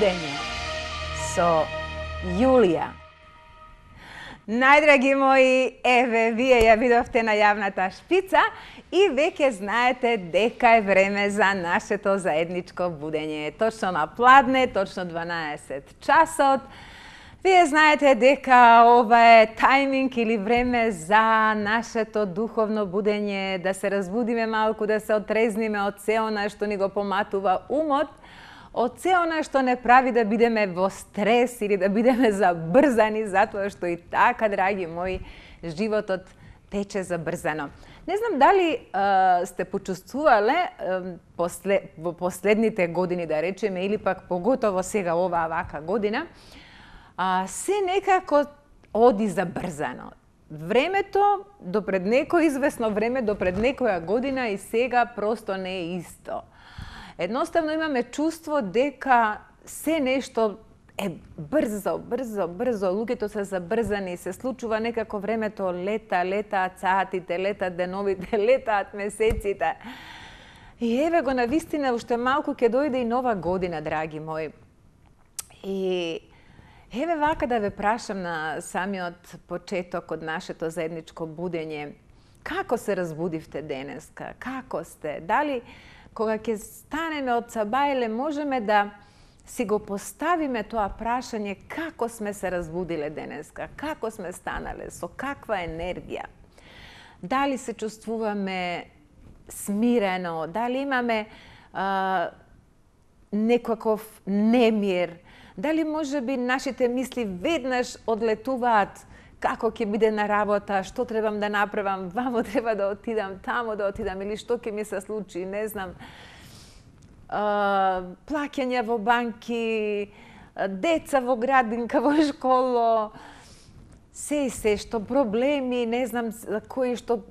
будење со Јулија. Најдраги мои, еве, вие ја видовте најавната шпица и веќе знаете дека е време за нашето заедничко будење. Точно на пладне, точно 12 часот. Вие знаете дека ова е тајминг или време за нашето духовно будење, да се разбудиме малку, да се отрезниме од се она што ни го поматува умот, од се она што не прави да бидеме во стрес или да бидеме забрзани, затоа што и така, драги мои, животот тече забрзано. Не знам дали сте почувствувале во последните години, да речеме, или пак поготово сега оваа вака година, се некако оди забрзано. Времето допред некој известно време, допред некоја година и сега просто не е исто. Едноставно имаме чувство дека се нешто е брзо, луѓето се забрзани, се случува некако времето летаат сатите, летаат деновите, летаат месеците. И еве го навистина, уште малку ќе дојде и нова година, драги мои. И еве вака да ве прашам на самиот почеток од нашето заедничко будење. Како се разбудивте денеска? Како сте? Дали кога ќе станеме од сабајле, можеме да си го поставиме тоа прашање како сме се разбудиле денеска, како сме станале, со каква енергија? Дали се чувствуваме смирено, дали имаме некаков немир, дали можеби нашите мисли веднаш одлетуваат како ќе биде на работа, што требам да направам, вамо треба да отидам, тамо да отидам, или што ќе ми се случи, не знам, плаќање во банки, деца во градинка, во школо, се што проблеми, не знам, кои што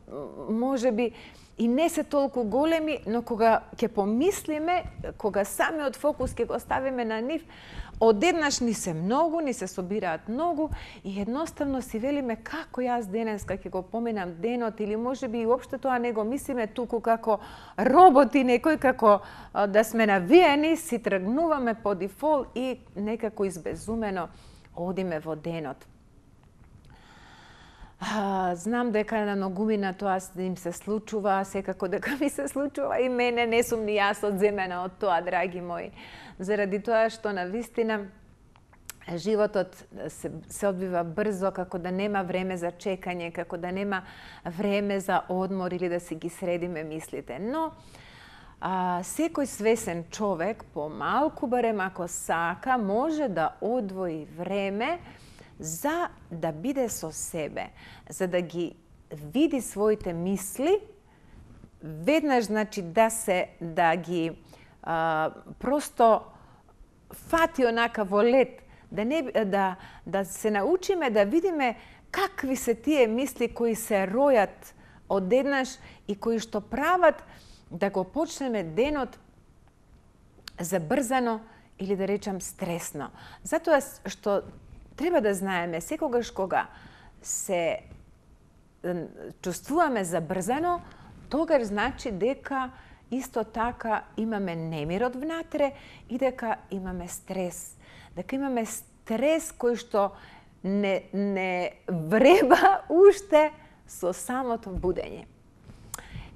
можеби и не се толку големи, но кога ќе помислиме, кога самиот фокус ќе го ставиме на нив, одеднаш ни се собираат многу и едноставно си велиме како јас денеска ќе го поминам денот, или можеби и општо тоа не го мислиме туку како роботи некој, како да сме навиени, си тргнуваме по дефолт и некако избезумено одиме во денот. Знам дека на многумина тоа им се случува, секако дека ми се случува и мене, не сум ни јас одземена од тоа, драги мои. Заради тоа што навистина животот се одвива брзо, како да нема време за чекање, како да нема време за одмор или да си ги средиме мислите. Но секој свесен човек, помалку барем ако сака, може да одвои време за да биде со себе, за да ги види своите мисли, веднаш значи да ги просто фати онака во лед, да се научиме да видиме какви се тие мисли кои се ројат одеднаш и кои што прават да го почнеме денот забрзано или да речам стресно. Затоа што треба да знаеме, секогаш кога се чувствуваме забрзано, тогаш значи дека исто така имаме немир од внатре и дека имаме стрес. Дека имаме стрес кој што не вреба уште со самото будење.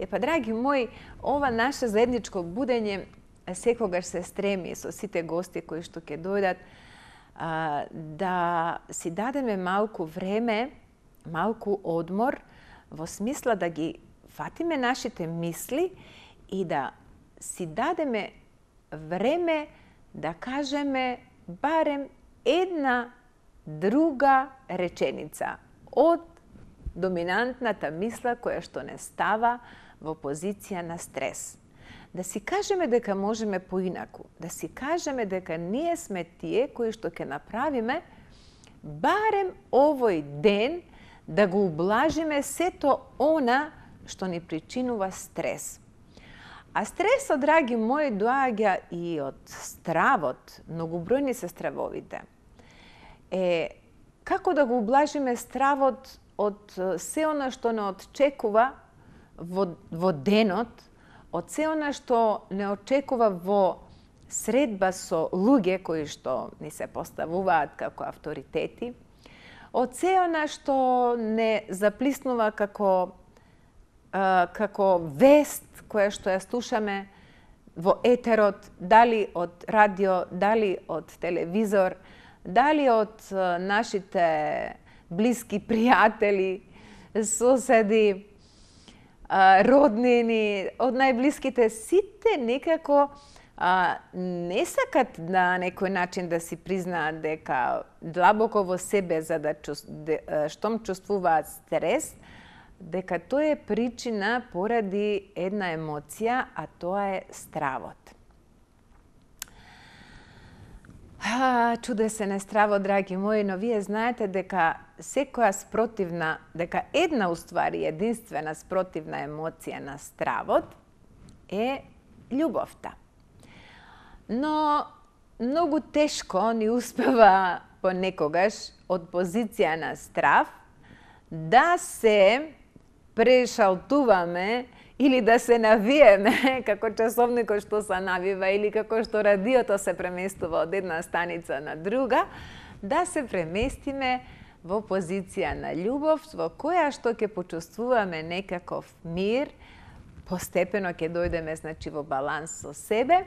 Епа, драги мои, ова наше заедничко будење секогаш се стреми со сите гости кои што ќе дојдат да си дадеме малку време, малку одмор, во смисла да ги фатиме нашите мисли и да си дадеме време да кажеме барем една друга реченица од доминантната мисла која што не става во позиција на стрес. Да си кажеме дека можеме поинаку, да си кажеме дека ние сме тие кои што ќе направиме барем овој ден да го ублажиме сето она што ни причинува стрес. А стресот, драги мои, доаѓа и од стравот, многобројни се стравовите. Како да го ублажиме стравот од се она што не очекува во денот, од се она што не очекува во средба со луѓе кои што ни се поставуваат како авторитети, од се она што не заплиснува како вест која што ја слушаме во етерот, дали од радио, дали од телевизор, дали од нашите блиски пријатели, соседи, роднини, од најблиските, сите некако не сакат на некој начин да си признаат дека длабоко во себе, за да штом чувствуваат стрес, дека тоа е причина поради една емоција, а тоа е стравот. Чудесен е стравот, драги мои, но вие знаете дека секоја спротивна, дека една уствари единствена спротивна емоција на стравот е љубовта. Но многу тешко ни успева понекогаш од позиција на страв да се прешалтуваме или да се навиеме, како часовникот што се навива или како што радиото се преместува од една станица на друга, да се преместиме во позиција на љубов, во која што ќе почувствуваме некаков мир, постепено ќе дојдеме, значи, во баланс со себе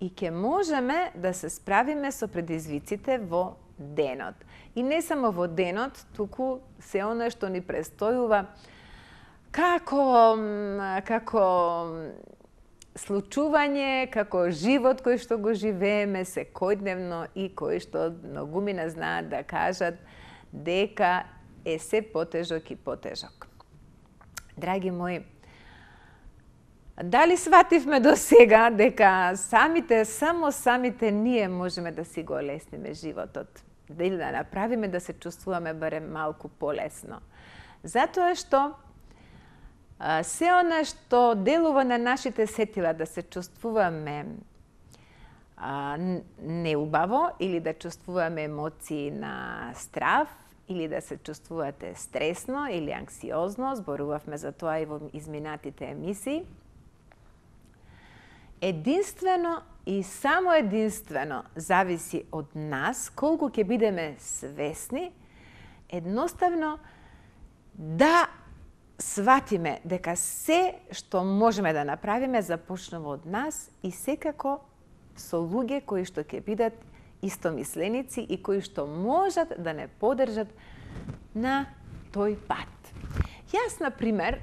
и ќе можеме да се справиме со предизвиците во денот. И не само во денот, туку се она што ни престојува како случување, како живот кој што го живееме секојдневно и кој што многумина знаат да кажат дека е се потежок и потежок. Драги мои, дали свативме до сега дека само самите ние можеме да си го олесниме животот, или да направиме да се чувствуваме барем малку полесно? Затоа што се она што делува на нашите сетила да се чувствуваме неубаво или да чувствуваме емоции на страв или да се чувствувате стресно или анксиозно, зборувавме за тоа и во изминатите емисии, единствено и само единствено зависи од нас колку ќе бидеме свесни едноставно да сватиме дека се што можеме да направиме започнува од нас и секако со луѓе кои што ќе бидат истомисленици и кои што можат да не поддржат на тој пат. Јас, например,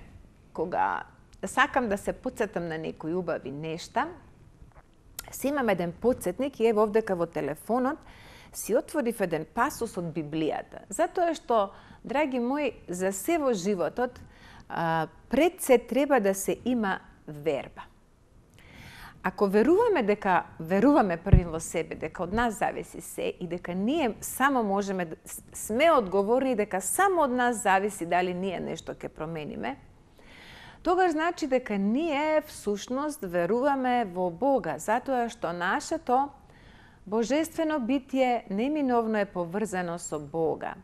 кога сакам да се потсетам на некои убави нешта, си имам еден потсетник и ево овдека во телефонот си отворив еден пасус од Библијата. Затоа што, драги мои, за се во животот пред се треба да се има верба. Ако веруваме први во себе, дека од нас зависи се и дека ние само можеме, сме одговорни дека само од нас зависи дали ние нешто ќе промениме, тогаш значи дека ние всушност веруваме во Бога, затоа што нашето божествено битие неминовно е поврзано со Бога.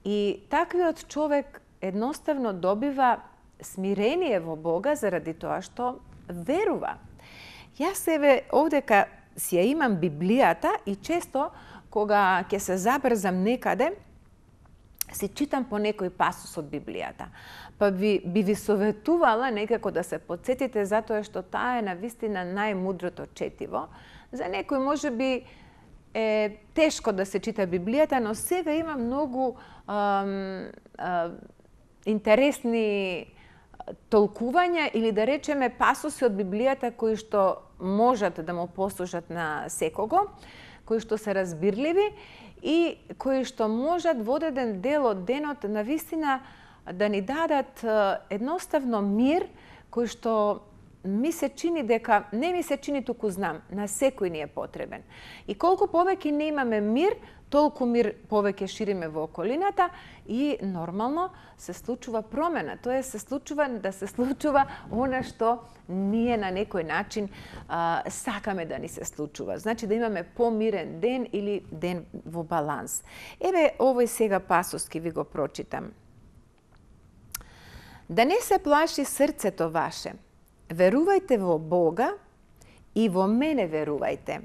И таквиот човек едноставно добива смирение во Бога заради тоа што верува. Јас еве овдека си ја имам Библијата и често кога ќе се забрзам некаде, си читам по некој пасус од Библијата. Па би ви советувала некако да се потсетите затоа што таа е навистина најмудрото четиво. За некој можеби е тешко да се чита Библијата, но сега има многу интересни толкувања или да речеме пасуси од Библијата кои што можат да му послужат на секого, кои што се разбирливи и кои што можат во одреден дел од денот навистина да ни дадат едноставно мир кој што ми се чини дека, не ми се чини туку знам, на секој ни е потребен. И колку повеќе не имаме мир, толку мир повеќе шириме во околината и нормално се случува промена. Тоа се случува она што ние на некој начин сакаме да ни се случува. Значи да имаме помирен ден или ден во баланс. Еве овој сега пасус ќе ви го прочитам. Да не се плаши срцето ваше. Верувајте во Бога и во мене верувајте.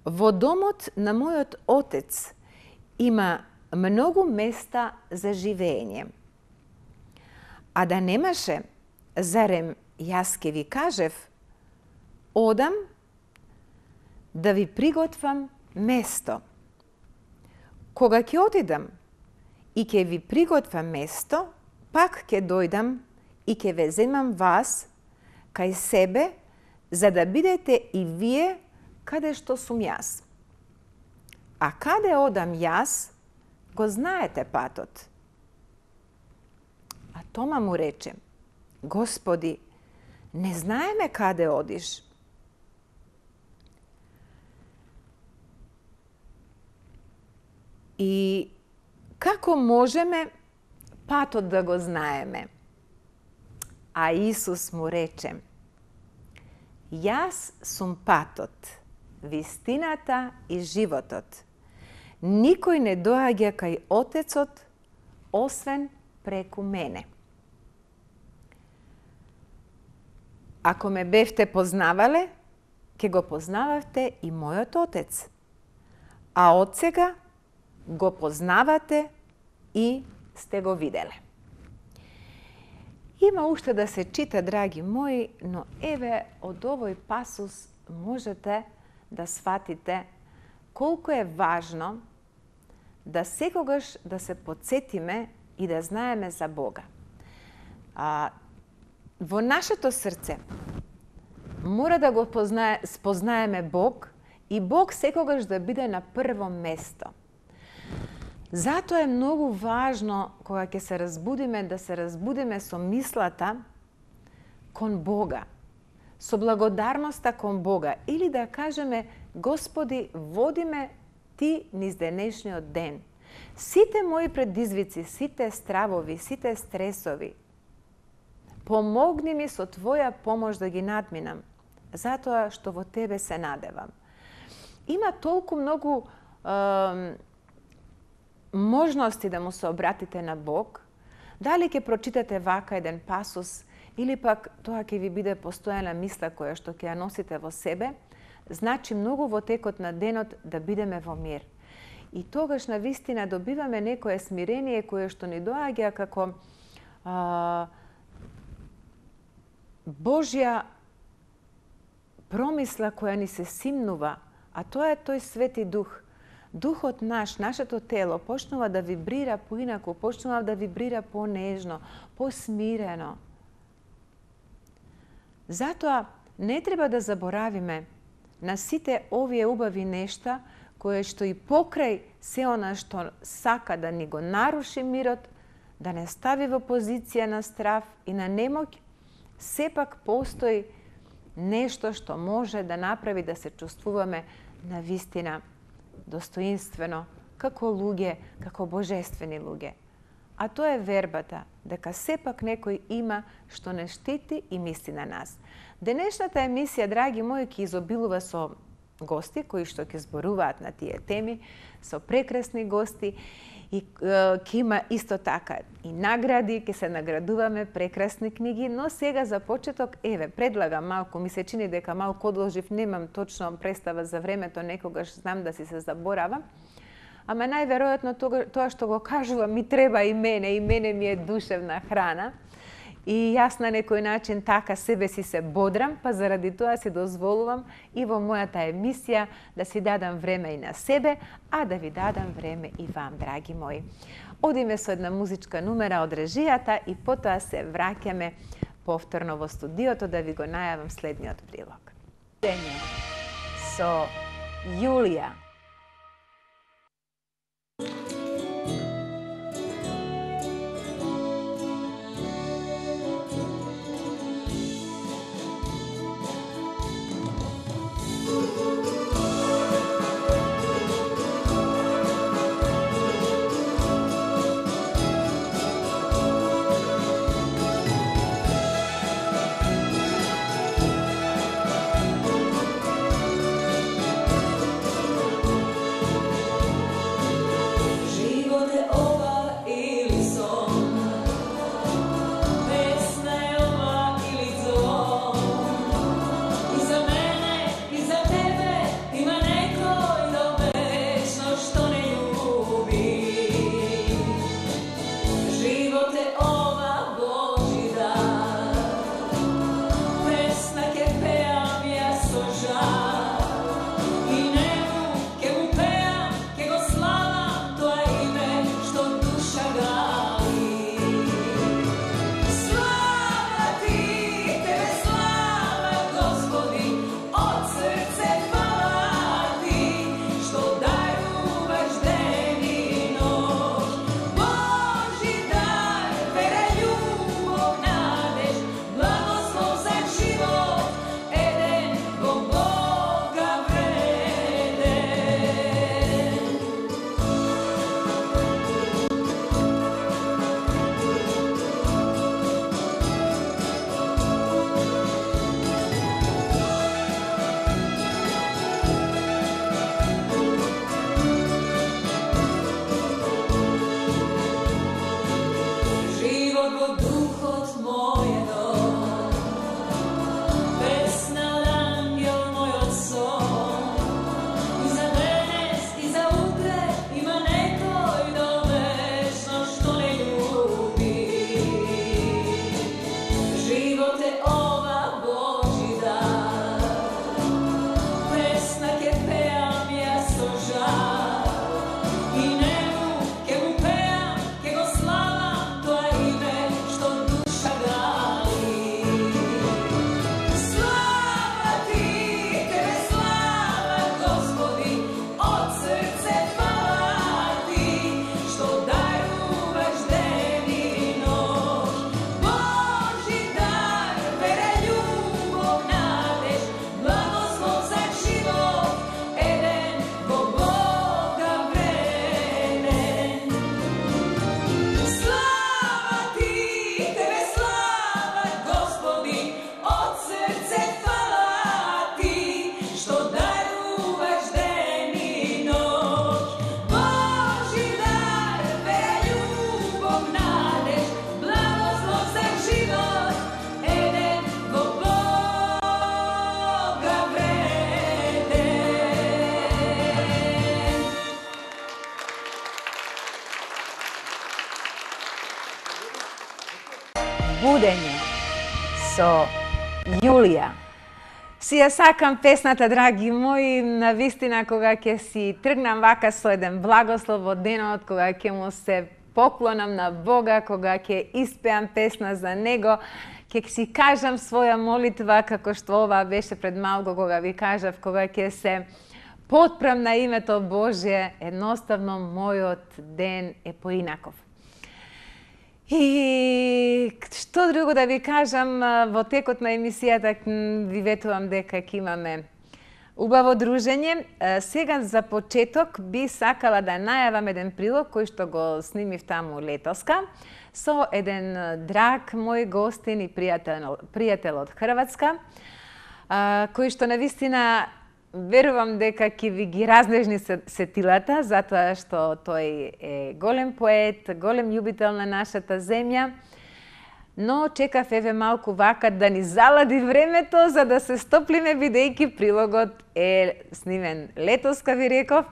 Во домот на мојот Отец има многу места за живење. А да немаше, зарем јас ке ви кажев, одам да ви приготвам место. Кога ќе отидам и ќе ви приготвам место, пак ќе дојдам и ќе ве земам вас кај себе, за да бидете и вие каде што сум јас. А каде одам јас, го знаете патот. А Тома му рече, Господи, не знаеме каде одиш. И како можеме патот да го знаеме? А Исус му рече, јас сум патот, вистината и животот. Никој не доаѓа кај Отецот, освен преку мене. Ако ме бевте познавале, ќе го познававте и мојот Отец. А од сега го познавате и сте го виделе. Има уште да се чита, драги мои, но еве од овој пасус можете да сватите колку е важно да секогаш да се потсетиме и да знаеме за Бога. Во нашето срце мора да го спознаеме Бог и Бог секогаш да биде на прво место. Затоа е многу важно кога ќе се разбудиме, да се разбудиме со мислата кон Бога, со благодарноста кон Бога, или да кажеме, Господи, води ме Ти низ денешниот ден. Сите мои предизвици, сите стравови, сите стресови, помогни ми со Твоја помош да ги надминам, затоа што во Тебе се надевам. Има толку многу можности да му се обратите на Бог, дали ќе прочитате вака еден пасус, или пак тоа ќе ви биде постојана мисла која што ќе ја носите во себе, значи многу во текот на денот да бидеме во мир. И тогаш на вистина добиваме некое смирение кое што ни доаѓа како Божја промисла која ни се симнува, а тоа е тој Свети Дух. Духот наш, нашето тело, почнува да вибрира поинаку, почнува да вибрира понежно, посмирено. Затоа не треба да заборавиме на сите овие убави нешта, кои што и покрај се она што сака да ни го наруши мирот, да не стави во позиција на страв и на немоќ, сепак постои нешто што може да направи да се чувствуваме на вистина достоинствено, како луѓе, како божествени луѓе. А тоа е вербата, дека сепак некој има што не штити и мисли на нас. Денешната емисија, драги мои, ќе изобилува со гости кои што ќе зборуваат на тие теми, со прекрасни гости, и ќе има исто така и награди, ќе се наградуваме, прекрасни книги, но сега за почеток, еве, предлагам малку, ми се чини дека малку одолжив, немам точно представа за времето, некогаш знам да си се заборавам, ама најверојатно тоа што го кажувам ми треба и мене ми е душевна храна. И јас на некој начин така себе си се бодрам, па заради тоа си дозволувам и во мојата емисија да си дадам време и на себе, а да ви дадам време и вам, драги мои. Одиме со една музичка numera од режијата и потоа се враќаме повторно во студиото да ви го најавам следниот прилог. Со Јулија. Будење со Јулија. Си ја сакам песната, драги мои, навистина кога ќе си тргнам вака со еден благослов во денот, кога ќе му се поклонам на Бога, кога ќе испеам песна за Него, ќе си кажам своја молитва, како што ова беше пред малку кога ви кажав, кога ќе се потпрам на името Божие, едноставно мојот ден е поинаков. И што друго да ви кажам, во текот на емисијата ви ветувам дека ќе имаме убаво дружење. Сега за почеток би сакала да најавам еден прилог кој што го снимив таму летоска со еден драг мој гостин и пријател од Хрватска, кој што навистина верувам дека ќе ви ги разнежни сетилата, затоа што тој е голем поет, голем љубител на нашата земја, но чекав еве малку вака да ни залади времето за да се стоплиме, бидејќи прилогот е снимен летоска, ви реков,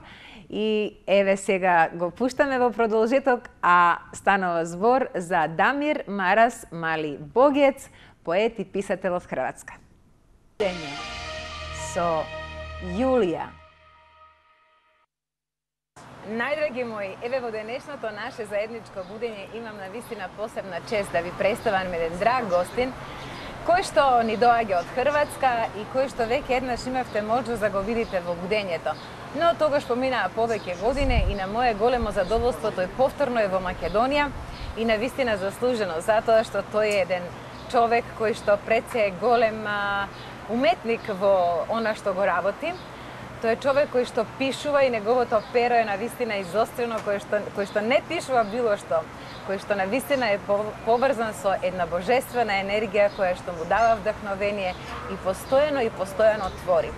и еве сега го пуштаме во продолжеток, а станува збор за Дамир Марас Мали Богец, поет и писател од Хрватска. Со Јулија. Најдраги мои, еве во денешното наше заедничко будење имам навистина посебна чест да ви представам еден драг гостин, кој што ни доаѓа од Хрватска и кој што веќе еднаш имавте можност да го видите во будењето. Но тогаш поминаа повеќе години и на мое големо задоволство тој повторно е во Македонија и навистина заслужено, затоа што тој е еден човек кој што пред се е голем уметник во она што го работи. Тој е човек кој што пишува и неговото перо е навистина изострено, кој што не пишува било што, кој што навистина е поврзан со една божествена енергија која што му дава вдахновение и постојано твори.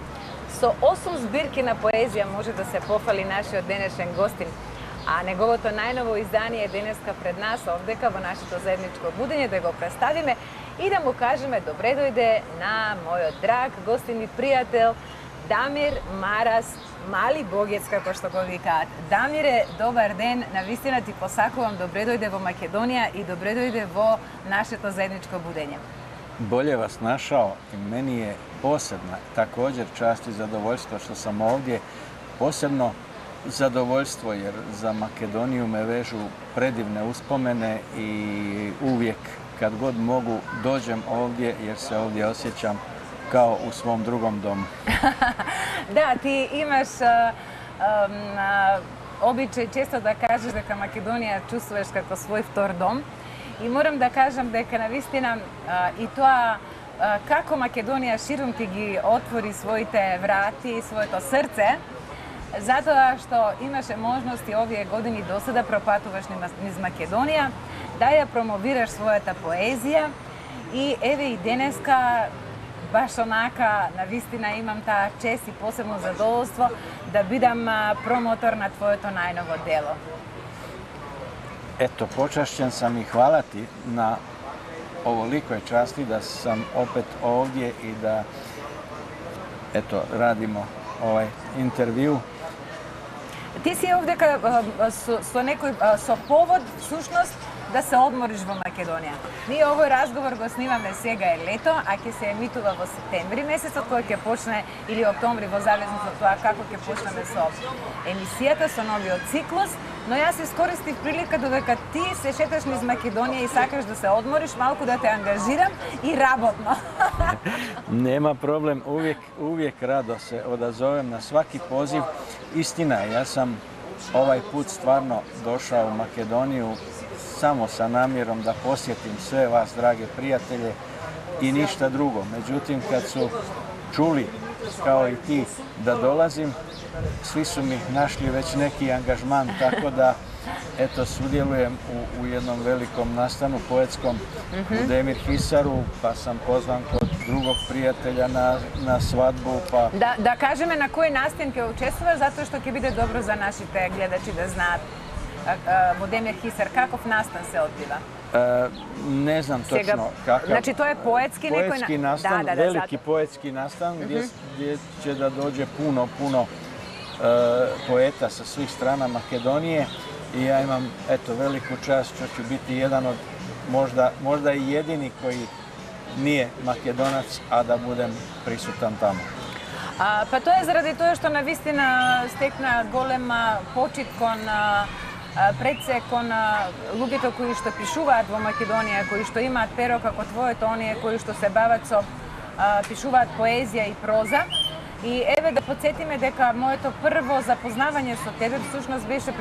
Со 8 збирки на поезија може да се пофали нашиот денешен гостин, а неговото најново издание е денеска пред нас овдека во нашето заедничко будење да го представиме и да му кажеме добре дојде на мојот драг гостин и пријател Дамир Марас Мали Богец, како што го викаат. Дамире, добар ден, навистина ти посакувам добре дојде во Македонија и добре дојде во нашето заедничко будење. Bolje vas našao i meni je posebna također čast i zadovoljstvo što sam ovdje. Posebno zadovoljstvo jer za Makedoniju me vežu predivne uspomene i uvijek kad god mogu dođem ovdje jer se ovdje osjećam kao u svom drugom domu. Da, ti imaš običaj često da kažeš дека Македонија чувствуваш како свој втор дом. И морам да кажам дека навистина и тоа како Македонија ширум ти ги отвори своите врати, своето срце, затоа што имаше можности овие години досада пропатуваш низ Македонија, да ја промовираш својата поезија и еве и денеска баш онака навистина имам таа чест и посебно задоволство да бидам промотор на твоето најново дело. Eto, počašćen sam i hvala ti na ovolikoj časti da sam opet ovdje i da eto, radimo ovaj intervju. Ti si ovdека со повод, всушност, да се одмориш во Македонија. Ние овој разговор го снимаме сега е лето, а ќе се емитува во септември месецот, кој ќе почне, или октомври, во зависност од тоа како ќе почнеме со емисијата, со новиот циклус. Но јас искористив прилика додека ти се шеташ низ Македонија и сакаш да се одмориш, малку да те ангажирам и работно. Nema problem, uvijek rado se odazovem na svaki poziv. Istina je, ja sam ovaj put stvarno došao u Makedoniju samo sa namjerom da posjetim sve vas, drage prijatelje, i ništa drugo. Međutim, kad su čuli, kao i ti, da dolazim, svi su mi našli već neki angažman, tako da eto, sudjelujem u jednom velikom nastanu poetskom u Demir Hisaru, pa sam pozvan kod drugog prijatelja na svadbu. Pa... Da kažeme na koji nastan ќе učestvуваш, zato što ќе биде dobro za našите gledači da znaат во Демир Хисар, каков настан се одбива? Не знам точно какав. Значи, тоа е поетски некој... Поетски настан, велики поетски настан, gdje će da dođe puno poeta sa svih strana Makedonije i ja imam, eto, veliku čast što ću biti jedan od možda i jedini koji nije Makedonac, a da budem prisutan tamo. Pa тоа е заради тоа што навистина стекна голема почит кон пред се кон луѓето кои што пишуваат во Македонија, кои што имаат перо како твоето, оние кои што се бават со пишуваат поезија и проза. И еве да подсетиме дека моето прво запознавање со тебе всушност беше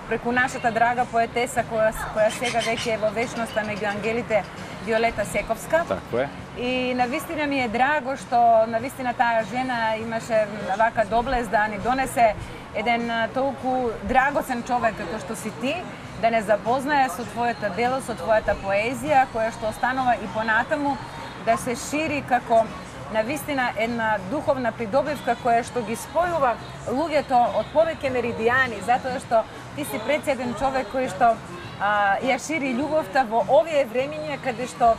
преку нашата драга поетеса која сега веќе е во вечноста меѓу ангелите, Виолета Сековска. Тако е. И навистина ми е драго што навистина таа жена имаше вака доблест да ни донесе еден толку драгоцен човек како што си ти, да не запознае со твоето дело, со твојата поезија, која што останува и понатаму да се шири како навистина една духовна придобивка која што ги спојува луѓето од повеќе меридијани, затоа што ти си председен човек кој што ја шири љубовта во овие времиња каде што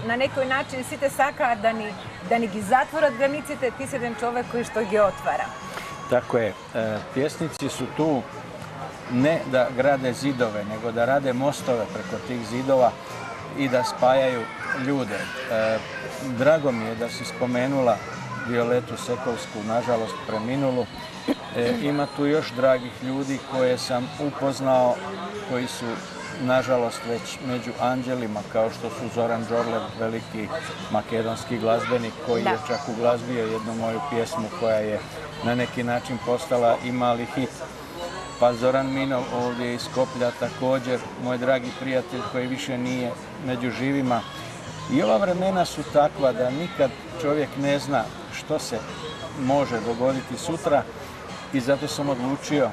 на некој начин сите сакаат да ни ги затворат границите, ти си еден човек кој што ги отвара. Tako je. Pjesnici su tu ne da grade zidove, nego da rade mostove preko tih zidova i da spajaju ljude. Drago mi je da si spomenula Violetu Sekovsku, nažalost preminulu. Ima tu još dragih ljudi koje sam upoznao, koji su nažalost već među anđelima, kao što su Zoran Đorlev, veliki makedonski glazbenik, koji je čak uglazbio jednu moju pjesmu koja je na neki način postala i mali hit. Pa Zoran Minov ovdje iz Skoplja također, moj dragi prijatelj koji više nije među živima. I ova vremena su takva da nikad čovjek ne zna što se može dogoditi sutra i zato sam odlučio,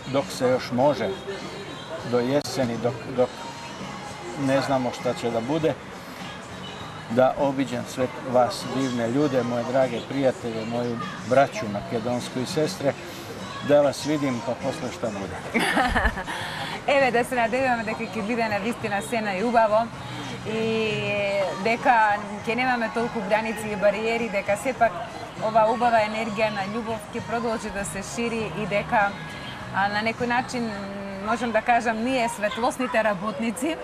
dok se još može, do jeseni, dok ne znamo šta će da bude, da obiđem sve vas divne ljude, moje drage prijatelje, moju braću makedonsku i sestre, da vas vidim pa posle šta bude. Еве да се надеваме дека ќе биде навистина сена и убаво и дека ќе немаме толку граници и бариери, дека сепак ова убава енергија на љубов ќе продолжи да се шири и дека на некој начин можам да кажам ние светлосните работници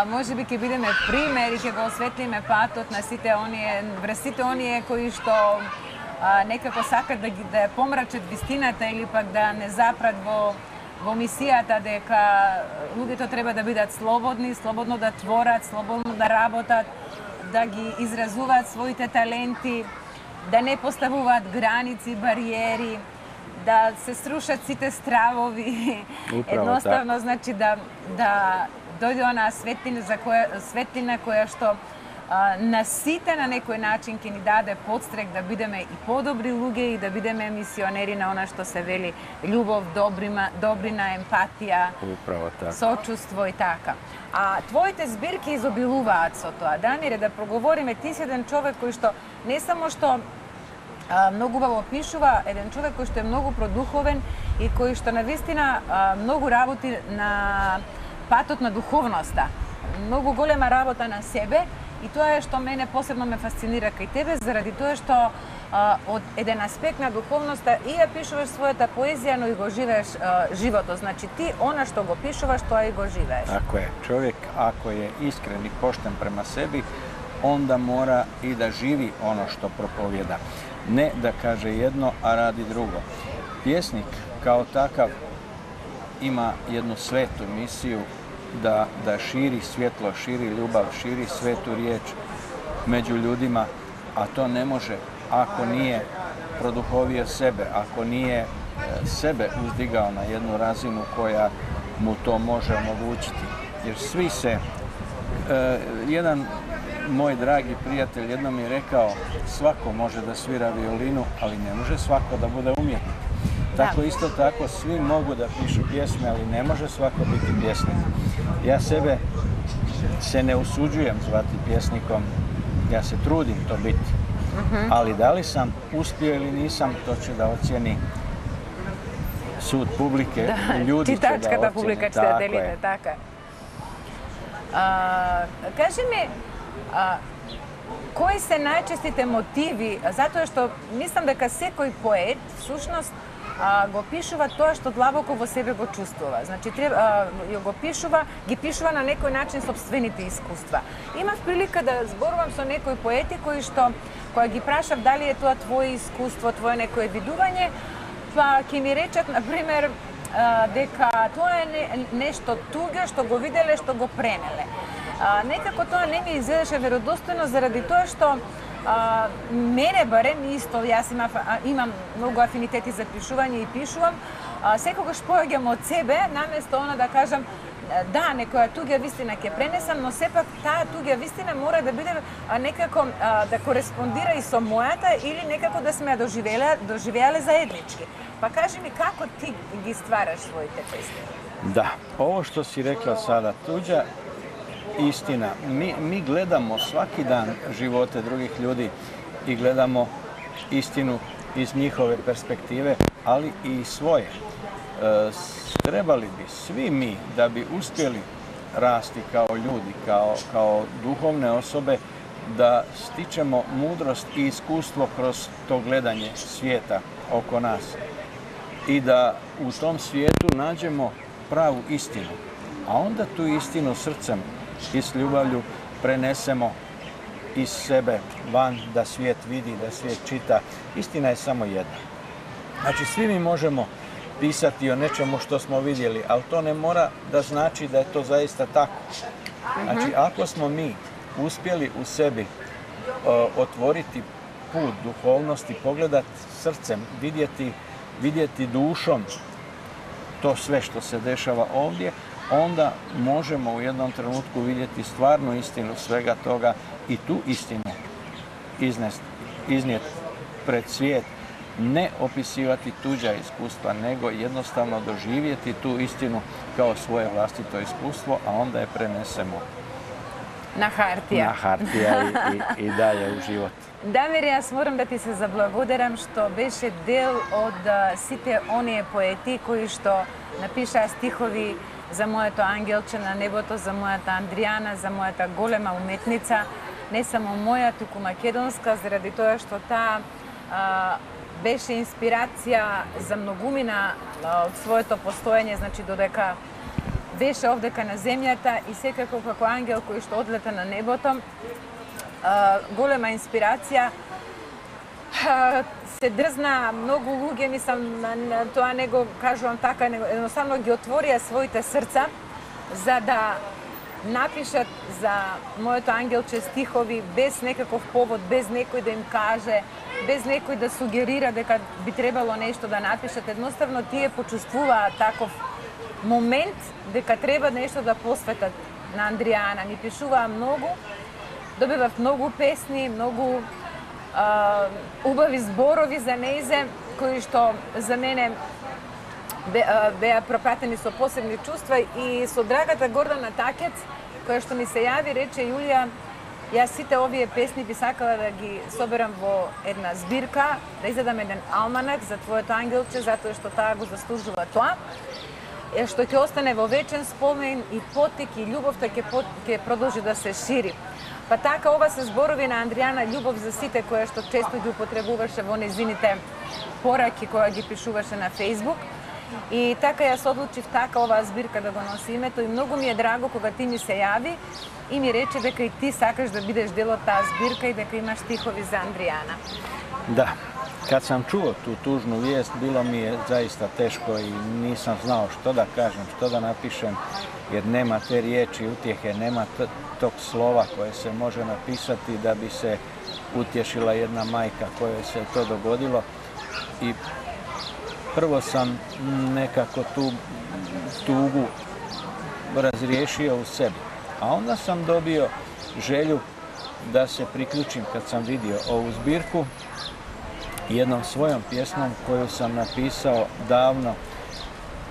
може би ќе бидеме пример и ќе го осветлиме патот на сите оние, врз сите оние кои што некако сакат да ја помрачат вистината или пак да не запрат во мисијата дека луѓето треба да бидат слободни, слободно да творат, слободно да работат, да ги изразуваат своите таленти, да не поставуваат граници, бариери, да се срушат сите стравови. Едноставно, значи да дојде онаа светлина која што на сите на некој начин ќе ни даде подстрек да бидеме и подобри луѓе и да бидеме мисионери на она што се вели љубов, добрина, емпатија, сочувство и така. А твоите збирки изобилуваат со тоа. Дамире, да проговориме, ти си еден човек кој што не само што многу убаво пишува, еден човек кој што е многу продуховен и кој што навистина многу работи на патот на духовноста. Многу голема работа на себе. И тоа е што мене посебно ме фасцинира кај тебе, заради тоа што од еден аспект на духовноста и ја пишуваш својата поезија, но и го живееш животот. Значи ти она што го пишуваш, тоа и го живееш. Tako je. Čovjek ako je iskren i pošten prema sebi, onda mora i da živi ono što propovjeda. Ne da kaže jedno, a radi drugo. Pjesnik kao takav ima jednu svetu misiju da širi svjetlo, širi ljubav, širi svetu riječ među ljudima, a to ne može ako nije produhovio sebe, ako nije sebe uzdigao na jednu razinu koja mu to može omogućiti. Jer svi se, jedan moj dragi prijatelj jednom mi je rekao, svako može da svira violinu, ali ne može svako da bude umjetnik. Tako isto tako svi mogu da pišu pjesme, ali ne može svako biti pjesnik. Ja sebe se ne usuđujem zvati pjesnikom, ja se trudim to biti. Ali da li sam uspio ili nisam, to će da ocijeni sud publike, ljudi će da ocjeni. Čitačkата publika će da delite, tako je. Kaži mi, кои се најчестите мотиви, затоа што мислам дека секој поет, всушност, го пишува тоа што длабоко во себе го чувствува. Значи, ги пишува на некој начин собствените искуства. Имав прилика да зборувам со некои поети кои што, кога ги прашав дали е тоа твое искуство, твое некое видување, па ќе ми речат, например, дека тоа е нешто туѓо што го виделе, што го пренеле. Некако тоа не ми изгледаше веродостојно заради тоа што мене барем исто, јас имам многу афинитети за пишување и пишувам, секогаш поаѓам од себе, наместо она да кажам да, некоја туѓа вистина ќе пренесам, но сепак таа туѓа вистина мора да биде некако да кореспондира и со мојата или некако да сме ја доживеале заеднички. Па кажи ми како ти ги ствараш своите песни? Да, ово што си рекла сада, туѓа istina. Mi gledamo svaki dan živote drugih ljudi i gledamo istinu iz njihove perspektive, ali i svoje. Trebali bi svi mi, da bi uspjeli rasti kao ljudi, kao duhovne osobe, da stičemo mudrost i iskustvo kroz to gledanje svijeta oko nas i da u tom svijetu nađemo pravu istinu, a onda tu istinu srcem i s ljubavlju prenesemo iz sebe van, da svijet vidi, da svijet čita. Istina je samo jedna. Znači, svi mi možemo pisati o nečemu što smo vidjeli, ali to ne mora da znači da je to zaista tako. Znači, ako smo mi uspjeli u sebi otvoriti put duhovnosti, pogledati srcem, vidjeti dušom to sve što se dešava ovdje, onda možemo u jednom trenutku vidjeti stvarnu istinu svega toga i tu istinu iznijeti pred svijet. Ne opisivati tuđa iskustva, nego jednostavno doživjeti tu istinu kao svoje vlastito iskustvo, a onda je prenesemo na hartija i dalje u život. Дамир, јас морам да ти се заблагодарам што беше дел од сите оние поети кои што напишаа стихови за моето ангелче на небото, за мојата Андријана, за мојата голема уметница, не само моја, туку македонска, заради тоа што таа беше инспирација за многумина од своето постоење, значи додека беше овдека на земјата и секако како ангел кој што одлета на небото, голема инспирација. Се дрзна многу луѓе, мислам, тоа не го кажувам така, едноставно ги отворија своите срца за да напишат за моето ангелче стихови без некаков повод, без некој да им каже, без некој да сугерира дека би требало нешто да напишат. Едноставно тие почувствуваа таков момент дека треба нешто да посветат на Андријана. Ми пишуваа многу, добивав многу песни, многу убави зборови за нејзе, кои што за мене беа пропратени со посебни чувства и со драгата Гордана Такец, која што ми се јави, рече: Јулија, јас сите овие песни би сакала да ги соберам во една збирка, да издадам еден алманак за твоето ангелче, затоа што таа го заслужува тоа, што ќе остане во вечен спомен и потик и љубовта ќе продолжи да се шири. Па така, ова се зборови на Андријана, љубов за сите, која што често ги употребуваше во незините пораки која ги пишуваше на Фејсбук. И така јас одлучив така оваа збирка да го носи името и многу ми е драго кога ти ми се јави и ми рече дека и ти сакаш да бидеш дел од таа збирка и дека имаш стихови за Андријana. Da, kad sam čuo tu tužnu vijest, bilo mi je zaista teško i nisam znao što da kažem, što da napišem, jer nema te riječi utjehe, nema tog slova koje se može napisati da bi se utješila jedna majka kojoj se to dogodilo. I prvo sam nekako tu tugu razriješio u sebi, a onda sam dobio želju da se priključim kad sam vidio ovu zbirku jednom svojom pjesmom koju sam napisao davno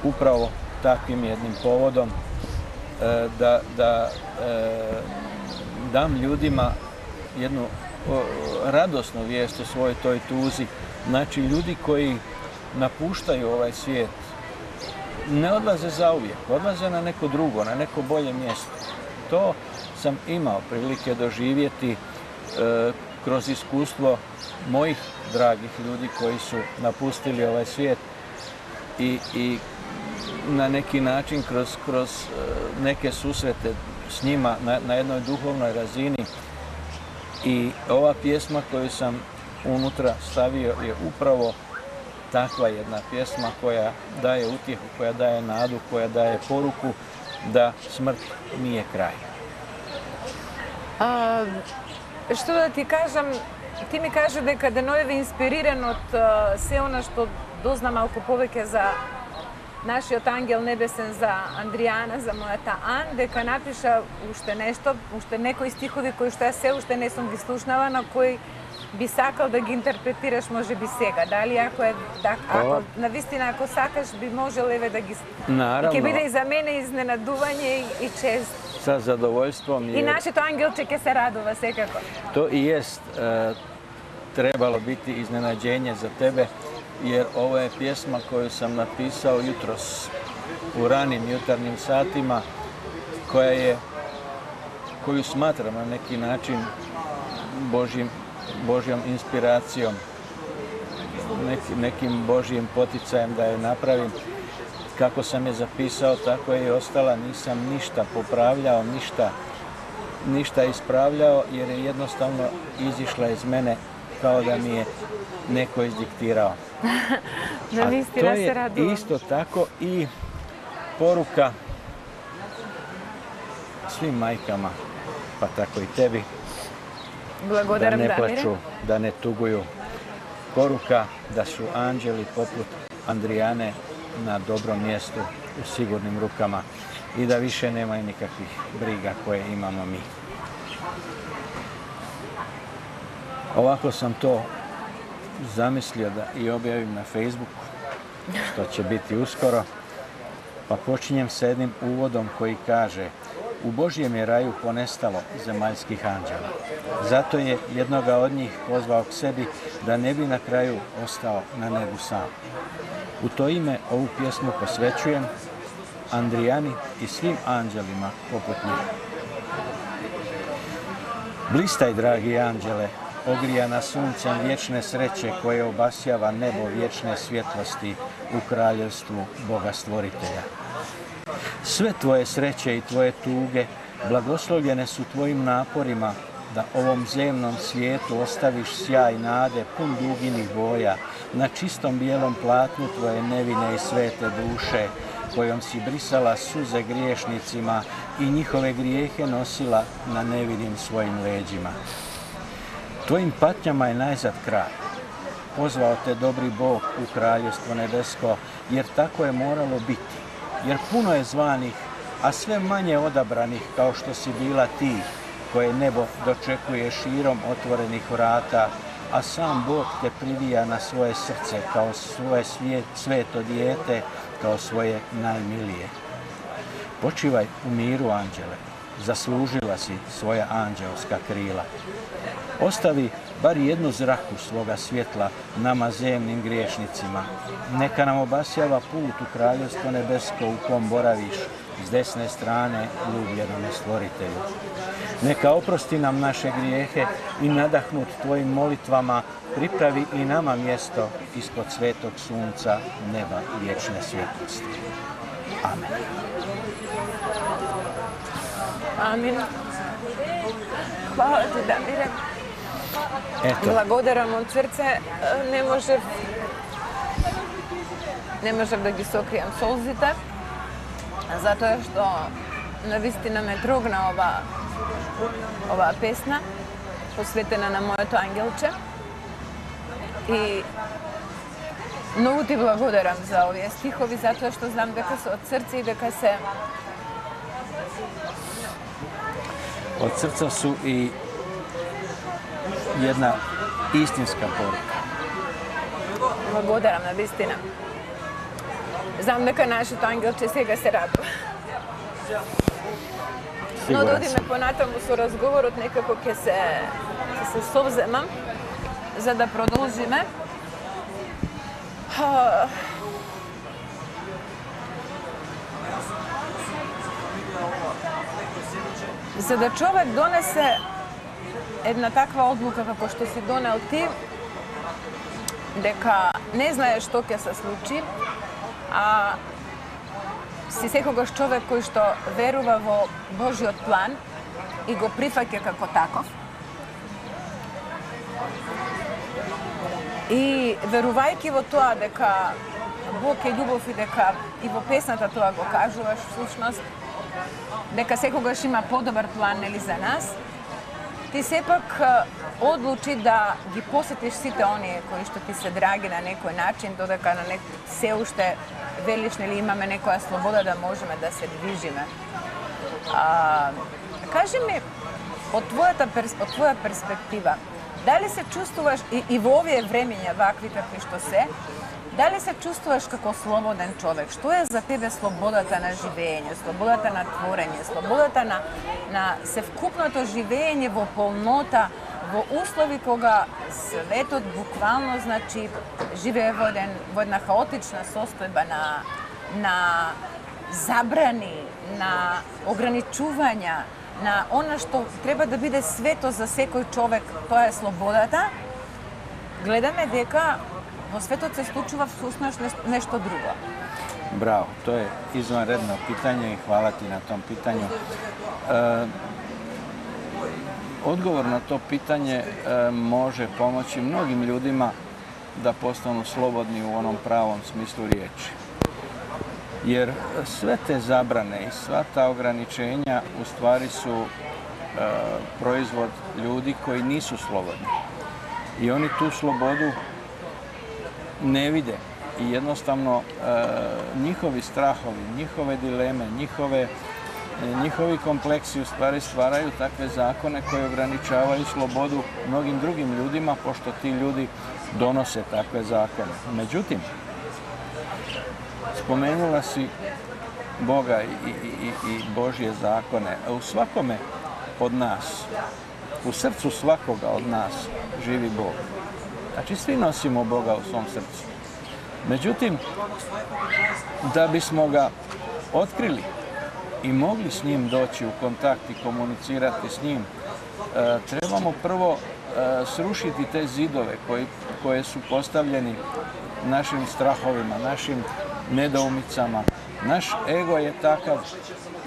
upravo takvim jednim povodom, da dam ljudima jednu radosnu vijest o svojoj toj tuzi. Znači, ljudi koji napuštaju ovaj svijet ne odlaze zauvijek, odlaze na neko drugo, na neko bolje mjesto. To sam imao prilike doživjeti kroz iskustvo mojih dragih ljudi koji su napustili ovaj svijet i na neki način kroz neke susrete s njima na jednoj duhovnoj razini. I ova pjesma koju sam unutra stavio je upravo takva jedna pjesma koja daje utjehu, koja daje nadu, koja daje poruku da smrt nije kraj. Што да ти кажам, ти ми кажа дека Деноеви инспириран од се она што дозна малку повеќе за нашиот ангел небесен, за Андријана, за мојата Ан, дека напиша уште нешто, уште некои стихови кои што се уште не сум ги слушнала, на кои би сакал да ги интерпретираш може би сега. Дали ако е ако навистина ако сакаш би можел еве да ги Наравно. Ќе биде и за мене изненадување и чест. Sa zadovoljstvom. I našето ангелче ќе се радува секако. To i jest trebalo biti iznenađenje za tebe, jer ovo je pjesma koju sam napisao jutros u ranim jutarnjim satima, koju smatram na neki način Božjom inspiracijom, nekim Božjim poticajem da je napravim. Kako sam je zapisao, tako je i ostala. Nisam ništa popravljao, ništa ispravljao, jer je jednostavno izišla iz mene kao da mi je neko izdiktirao. A to je isto tako i poruka svim majkama, pa tako i tebi, da ne plaču, da ne tuguju. Poruka da su anđeli poput Andrijane na dobrom mjestu, u sigurnim rukama i da više nemaju nikakvih briga koje imamo mi. Ovako sam to zamislio da i objavim na Facebooku, što će biti uskoro, pa počinjem sa jednim uvodom koji kaže: u Božjem je raju ponestalo zemaljskih anđela. Zato je jednoga od njih pozvao k sebi da ne bi na kraju ostao na nebu sam. U to ime ovu pjesmu posvećujem Andrijani i svim anđelima poput njih. Blistaj, dragi anđele, ogrijana suncem vječne sreće koje obasjava nebo vječne svjetlosti u kraljevstvu Boga Stvoritelja. Sve tvoje sreće i tvoje tuge blagoslovljene su tvojim naporima da ovom zemnom svijetu ostaviš sjaj nade pun duginih boja na čistom bijelom platnu tvoje nevine i svete duše, kojom si brisala suze griješnicima i njihove grijehe nosila na nevinim svojim leđima. Tvojim patnjama je najzad kraj. Pozvao te dobri Bog u kraljevstvo nebesko, jer tako je moralo biti. Jer puno je zvanih, a sve manje odabranih kao što si bila ti, koje nebo dočekuje širom otvorenih vrata, a sam Bog te privija na svoje srce kao svoje sveto dijete, kao svoje najmilije. Počivaj u miru, anđele, zaslužila si svoja anđelska krila. Ostavi bar jednu zraku svoga svjetla nama zemnim griješnicima. Neka nam obasjava put u kraljevstvo nebesko u kom boraviš, s desne strane ljubljenome Stvoritelju. Neka oprosti nam naše grijehe i nadahnut tvojim molitvama pripravi i nama mjesto ispod svetog sunca neba vječne svjetlosti. Amen. Amin. Hvala ti, Damire. Благодарам од срце. Не можев да ги сокријам солзите, затоа што навистина ме трогна оваа песна, посветена на моето ангелче. И многу ти благодарам за овие стихови, затоа што знам дека се од срце и дека се... Од срца су и jedna istinska poruka. Благодарам на вистина. Знам дека нашето ангелче сега се радува. Но да одиме понатаму со разговорот, некако ќе се совземам за да продолжиме. За да човек донесе една таква одлука како што си донел ти, дека не знае што ќе се случи, а си секогаш човек кој што верува во Божиот план и го прифаќа како таков. И верувајќи во тоа дека Бог е љубов и дека и во песната тоа го кажуваш всушност, дека секогаш има подобар план нели за нас, ти сепак одлучи да ги посетиш сите оние кои што ти се драги на некој начин, додека на се уште велиш нели имаме некоја слобода да можеме да се движиме. Кажи ми, од твоја перспектива, дали се чувствуваш и во овие времења вакви какви што се, дали се чувствуваш како слободен човек? Што е за тебе слободата на живење, слободата на творење, слободата на севкупното живење во полнота, во услови кога светот буквално значи живее во една хаотична состојба на забрани, на ограничувања, на она што треба да биде свето за секој човек, тоа е слободата. Гледаме дека во светот се случува всушност нешто друго. Браво, тоа е извонредно питање и хвала ти на том питању. Одговор на то питање може помоći многим ljudima да постану слободни у оном правом смислу ријечи. Jer sve te zabrane i sva ta ograničenja u stvari su proizvod ljudi koji nisu slobodni. I oni tu slobodu ne vide i jednostavno njihovi strahovi, njihove dileme, njihovi kompleksi u stvari stvaraju takve zakone koje ograničavaju slobodu mnogim drugim ljudima, pošto ti ljudi donose takve zakone. Međutim, spomenula si Boga i Božje zakone. U svakome od nas, u srcu svakoga od nas živi Bog. Znači, svi nosimo Boga u svom srcu. Međutim, da bismo ga otkrili i mogli s njim doći u kontakt i komunicirati s njim, trebamo prvo srušiti te zidove koje su postavljeni našim strahovima, našim nedoumicama. Naš ego je takav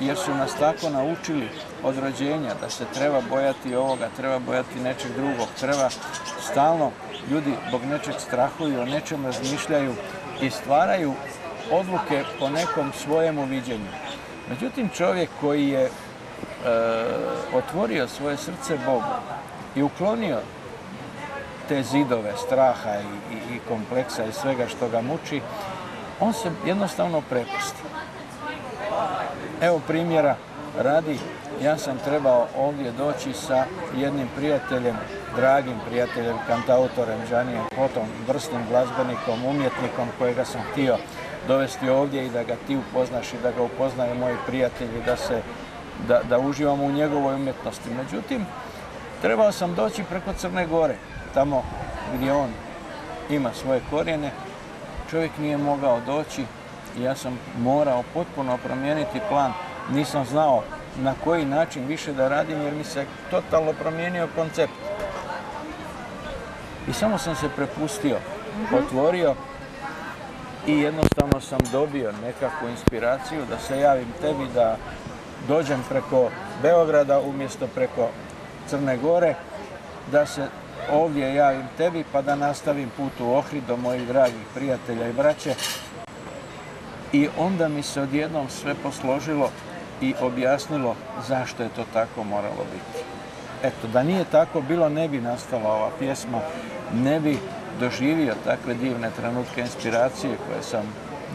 jer su nas tako naučili od rođenja da se treba bojati ovoga, treba bojati nečeg drugog, treba stalno, ljudi zbog nečeg strahuju, o nečem razmišljaju i stvaraju odluke po nekom svojemu viđenju. Međutim, čovjek koji je otvorio svoje srce Bogu i uklonio te zidove straha i kompleksa i svega što ga muči, on se jednostavno prepusti. Evo primjera radi, ja sam trebao ovdje doći sa jednim prijateljem, dragim prijateljem, kantautorem Džanijem Kotom, vrsnim glazbenikom, umjetnikom kojega sam htio dovesti ovdje i da ga ti upoznaš i da ga upoznaju moji prijatelji, da uživamo u njegovoj umjetnosti. Međutim, trebao sam doći preko Crne Gore, tamo gdje on ima svoje korijene. Čovjek nije mogao doći i ja sam morao potpuno promijeniti plan. Nisam znao na koji način više da radim jer mi se totalno promijenio koncept. I samo sam se prepustio, otvorio i jednostavno sam dobio nekakvu inspiraciju da se javim tebi, da dođem preko Beograda umjesto preko Crne Gore, da se ovdje javim tebi pa da nastavim put u Ohrid do mojih dragih prijatelja i braće. I onda mi se odjednom sve posložilo i objasnilo zašto je to tako moralo biti. Eto, da nije tako bilo, ne bi nastala ova pjesma, ne bi doživio takve divne trenutke inspiracije koje sam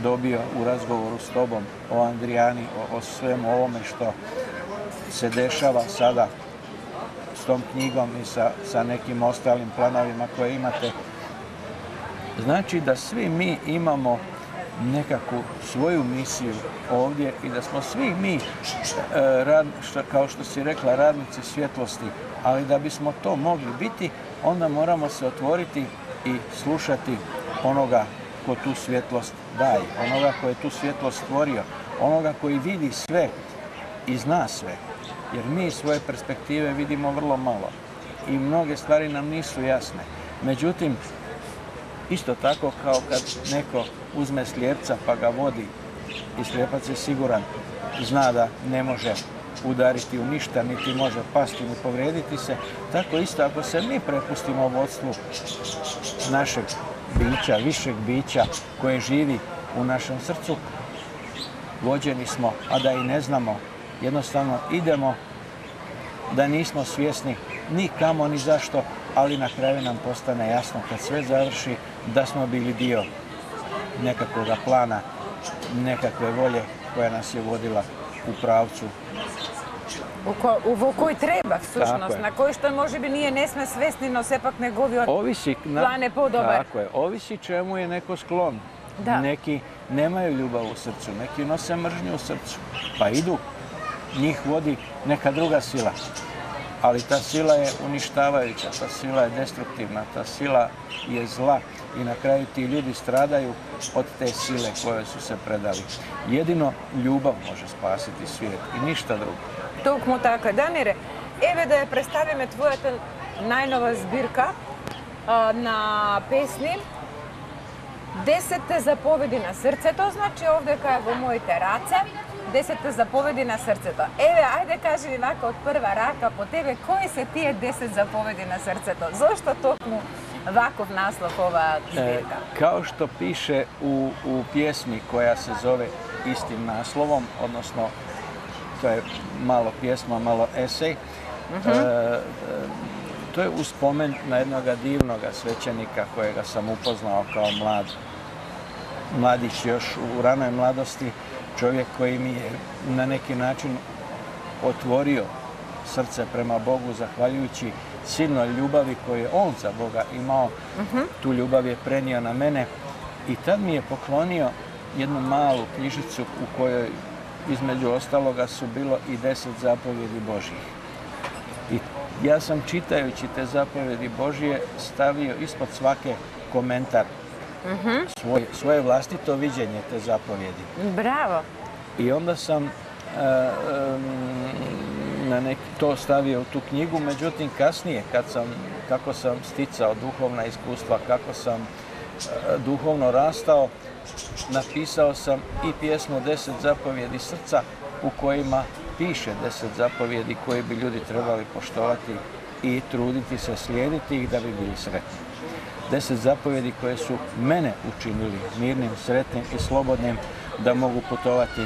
dobio u razgovoru s tobom o Andrijani, o svemu ovome što se dešava sada s tom knjigom i sa nekim ostalim planovima koje imate. Znači da svi mi imamo nekakvu svoju misiju ovdje i da smo svi mi, kao što si rekla, radnici svjetlosti, ali da bismo to mogli biti, onda moramo se otvoriti i slušati onoga ko tu svjetlost daje, onoga ko je tu svjetlost stvorio, onoga koji vidi sve i zna sve. Jer mi iz svoje perspektive vidimo vrlo malo i mnoge stvari nam nisu jasne. Međutim, Isto tako kao kad neko uzme slijepca pa ga vodi i slijepac je siguran, zna da ne može udariti u ništa, niti može pasti ni povrijediti se. Tako isto ako se mi prepustimo vodstvu našeg bića, višeg bića koje živi u našem srcu, vođeni smo, a da i ne znamo, jednostavno idemo da nismo svjesni ni kamo ni zašto, ali na kraju nam postane jasno kad sve završi da smo bili dio nekakvog plana, nekakve volje koja nas je vodila u pravcu. Во кој треба, всушност, на кој што може би ние не сме свесни, но сепак неговиот план е подобар. Tako je, ovisi čemu je neko sklon. Da. Neki nemaju ljubav u srcu, neki nose mržnju u srcu, pa idu, njih vodi neka druga sila. Ali ta sila je uništavajuća, ta sila je destruktivna, ta sila je zla i na kraju ti ljudi stradaju od te sile koje su se predali. Jedino ljubav može spasiti svijet i ništa drugo. Токму така. Дамире, еве да ја представиме твојата најнова збирка на песни 10 заповеди на срцето, значи овдека во моите раце 10 заповеди на срцето. Еве, ајде кажи ми вака од прва рака по тебе, кои се тие 10 заповеди на срцето? Зошто токму ваков наслов ова збирка? Kao što piše u pjesmi koja se zove istim naslovom, odnosno to je malo pjesma, malo esej. To je uspomen na jednog divnog svećenika kojega sam upoznao kao mladić još u ranoj mladosti. Čovjek koji mi je na neki način otvorio srce prema Bogu zahvaljujući silnoj ljubavi koju je on za Boga imao. Tu ljubav je prenio na mene i tad mi je poklonio jednu malu knjižicu u kojoj između ostaloga su bilo i 10 zapovjedi Božjih. I ja sam čitajući te zapovjedi Božje stavio ispod svake komentar, svoje vlastito viđenje te zapovjedi. Bravo! I onda sam to stavio u tu knjigu, međutim kasnije kako sam sticao duhovna iskustva, kako sam duhovno rastao, napisao sam i pjesmu 10 zapovjedi srca u kojima piše 10 zapovjedi koje bi ljudi trebali poštovati i truditi se slijediti ih da bi bili sretni. 10 zapovjedi koje su mene učinili mirnim, sretnim i slobodnim da mogu putovati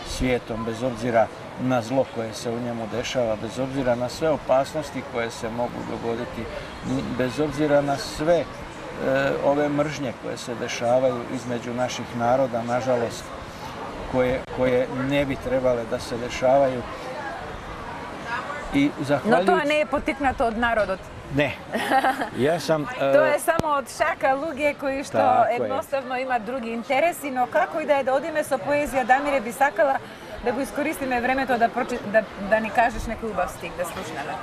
svijetom bez obzira na zlo koje se u njemu dešava, bez obzira na sve opasnosti koje se mogu dogoditi, bez obzira na sve ove mržnje koje se dešavaju između naših naroda, nažalost, koje ne bi trebale da se dešavaju. Но тоа не е потикнато од народот. Не. Јас сам Тоа е само од шака луѓе кои што едноставно имаат други интереси, но како и да е да одиме со поезија, Дамире, би сакала да го искористиме времето да ни кажеш некој убав стих да слушнеме.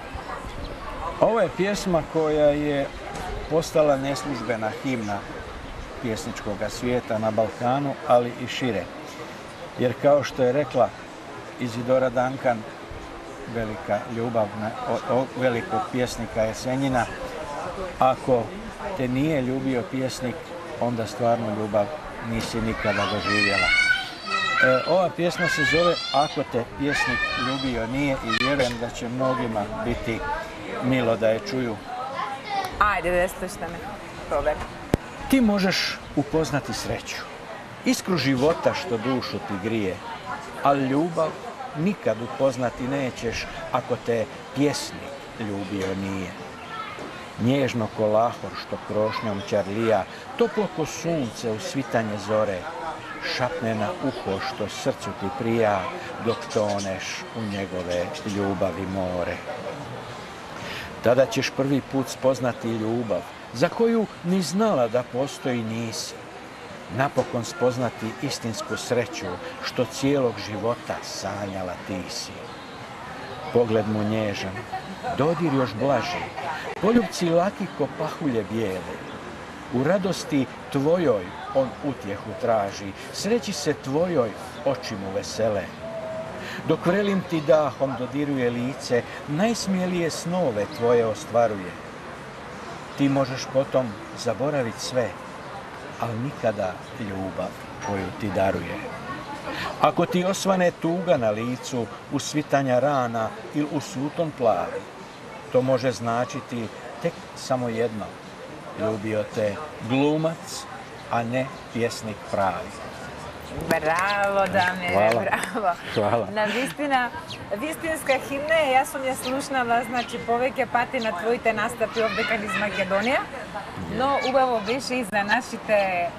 Ова е пjesma koja je postala neslužbena himna pjesničkog svijeta na Balkanu, ali i šire. Jer kao što je rekla Izidora Duncan, velika ljubav velikog pjesnika Jesenjina, ako te nije ljubio pjesnik, onda stvarno ljubav nisi nikada doživjela. Ova pjesma se zove Ako te pjesnik ljubio nije i vjerujem da će mnogima biti milo da je čuju. Ajde, da slušame. Probaj. Ti možeš upoznati sreću, iskru života što dušu ti grije, ali ljubav nikad upoznati nećeš ako te pjesnik ljubio nije. Nježno ko lahor što krošnjom ćarlija, toplo ko sunce u svitanje zore, šapne na uho što srcu ti prija dok toneš u njegove ljubavi more. Tada ćeš prvi put spoznati ljubav za koju ni znala da postoji nisi. Napokon spoznati istinsku sreću što cijelog života sanjala ti si. Pogled mu nježan, dodir još blaži, poljupci laki ko pahulje bijele. U radosti tvojoj on utjehu traži, sreći se tvojoj oči mu vesele. Dok vrelim ti dahom dodiruje lice, najsmijelije snove tvoje ostvaruje. Ti možeš potom zaboraviti sve, ali nikada ljubav koju ti daruje. Ako ti osvane tuga na licu, usvitanja rana ili usuton plavi, to može značiti tek samo jedno. Ljubio te glumac, a ne pjesnik pravi. Браво, Дамире, браво. Хвала. Навистина, вистинска химна е, јас сум ја слушнала, значи, повеќе пати на твоите настапи овде кај низ Македонија, но убаво беше и за нашите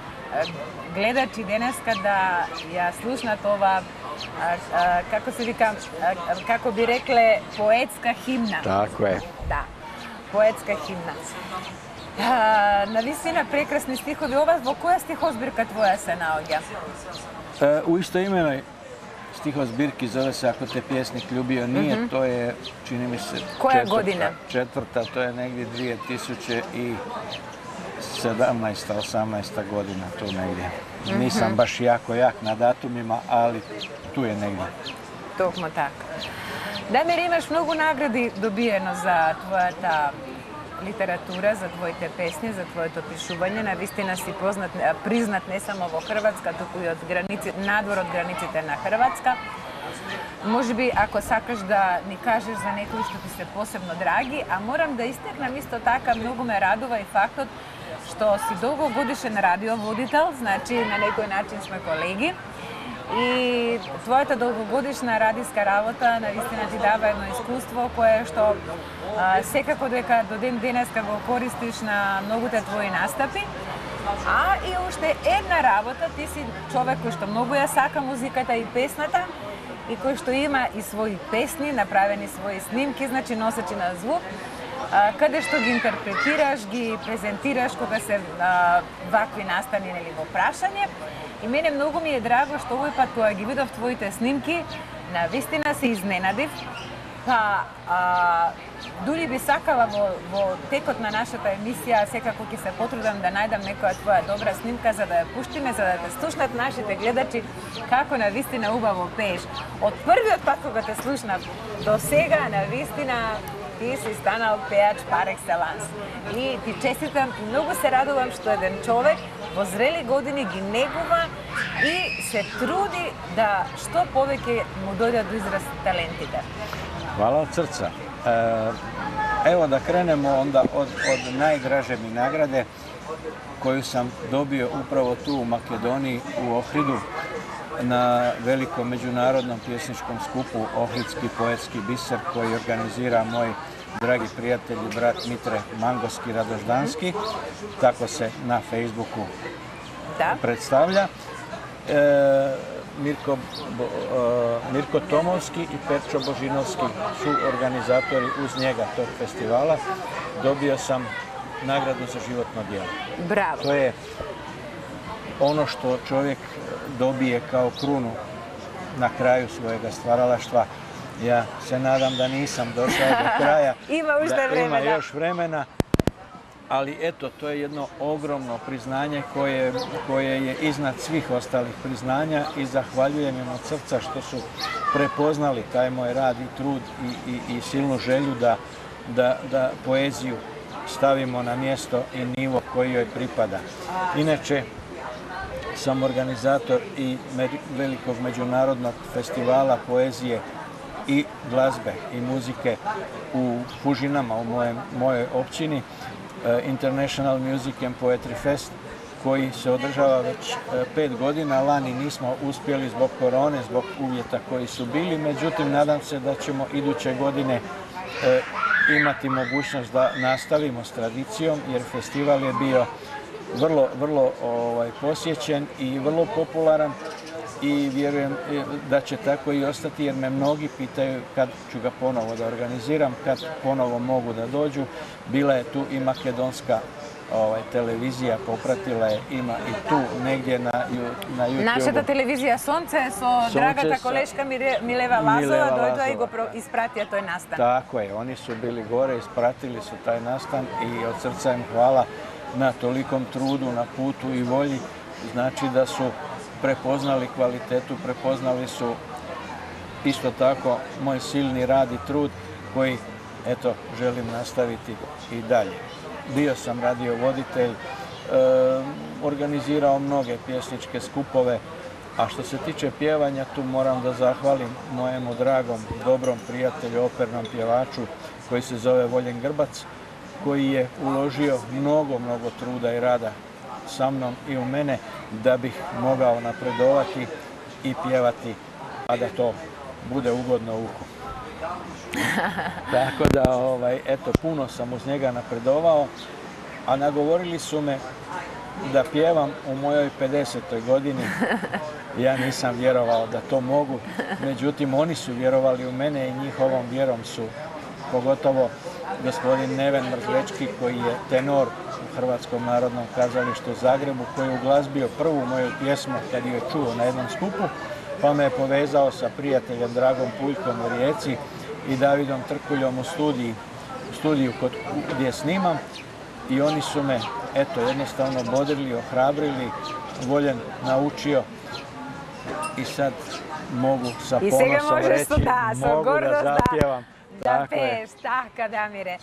гледачи денеска да ја слушнат ова, како се вика, како би рекле, поетска химна. Tako je. Да, поетска химна. Навистина прекрасни стихови. Ова во која стихозбирка твоја се наоѓа? U istoimenoj stihozbirki zove se Ako te pjesnik ljubio nije, to je, čini mi se, četvrta, to je negdje 2017-18 godina, tu negdje. Nisam baš jako jak na datumima, ali tu je negdje. Токму така. Дамир, имаш многу награди добиено за твојата литература, за твоите песни, за твоето пишување. Навистина си признат не само во Хрватска, туку и надвор од границите на Хрватска. Можеби, ако сакаш да ни кажеш за некои што ти се посебно драги, а морам да истекнам исто така, многу ме радува и фактот што си долгогодишен радиоводител, значи на некој начин сме колеги. И твојата долгогодишна радиска работа навистина ти дава едно искуство кое што секако дека до ден денеска го користиш на многуте твои настапи. А и уште една работа, ти си човек кој што многу ја сака музиката и песната и кој што има и своји песни, направени своји снимки, значи носачи на звук, каде што ги интерпретираш, ги презентираш кога се вакви настани или во прашање. И мене многу ми е драго што овој пат кога ги видов твоите снимки, навистина се изненадив. Па дури би сакала во текот на нашата емисија секако ќе се потрудам да најдам некоја твоја добра снимка за да ја пуштиме, за да те слушнат нашите гледачи како навистина убаво пееш. Од првиот пат кога те слушнав до сега навистина ти си станал пеач пар екселанс. И ти честитам и многу се радувам што еден човек во зрели години ги негува и се труди да што повеќе му дојдат до израз талентите. Hvala od srca. Evo da krenemo onda od najdraže mi nagrade koju sam dobio upravo tu u Makedoniji, u Ohridu, na velikom međunarodnom pjesničkom skupu Ohridski poetski biser koji organizira moj dragi prijatelj i brat Mitre Mangoski Radoždanski, tako se na Facebooku predstavlja. Mirko Tomovski i Perčo Božinovski su organizatori uz njega tog festivala. Dobio sam nagradu za životno djelo. Bravo. To je ono što čovjek dobije kao krunu na kraju svojega stvaralaštva. Ja se nadam da nisam došao do kraja. Ima još vremena. Ali eto, to je jedno ogromno priznanje koje je iznad svih ostalih priznanja i zahvaljujem im od srca što su prepoznali taj moj rad i trud i silnu želju da poeziju stavimo na mjesto i nivo koji joj pripada. Inače, sam organizator i velikog međunarodnog festivala poezije i glazbe i muzike u Fužinama, u mojoj općini, International Music and Poetry Fest, koji se održava već 5 godina. Lani nismo uspjeli zbog korone, zbog uvjeta koji su bili, međutim nadam se da ćemo iduće godine imati mogućnost da nastavimo s tradicijom, jer festival je bio vrlo posjećen i vrlo popularan i vjerujem da će tako i ostati, jer me mnogi pitaju kad ću ga ponovo da organiziram, kad ponovo mogu da dođu. Bila je tu i makedonska televizija, popratila je, ima i tu negdje na YouTube. Našата телевизија Сонце со драгата колешка Милева Лазова дојдоа и го испратија тој настан. Tako je, oni su bili gore, ispratili su taj nastan i od srca im hvala na tolikom trudu, na putu i volji. Znači da su prepoznali kvalitetu, prepoznali su isto tako moj silni rad i trud koji, eto, želim nastaviti i dalje. Bio sam radiovoditelj, organizirao mnoge pjesničke skupove, a što se tiče pjevanja, tu moram da zahvalim mojemu dragom, dobrom prijatelju, opernom pjevaču koji se zove Voljen Grbac, koji je uložio mnogo truda i rada sa mnom i u mene da bih mogao napredovati i pjevati, a da to bude ugodno uhu. Tako da, eto, puno sam uz njega napredovao, a nagovorili su me da pjevam u mojoj 50. godini. Ja nisam vjerovao da to mogu, međutim oni su vjerovali u mene i njihovom vjerom su, pogotovo gospodin Neven Mrzlečki, koji je tenor u Hrvatskom narodnom kazalištu u Zagrebu, koji je uglazbio prvu moju pjesmu kad je čuo na jednom skupu, pa me je povezao sa prijateljem Dragom Puljkom u Rijeci i Davidom Trkuljom u studiju gdje snimam. I oni su me, eto, jednostavno bodrili, ohrabrili, Voljen naučio i sad mogu sa ponosom reći, mogu da zapjevam. Да пееш, така, Дамире.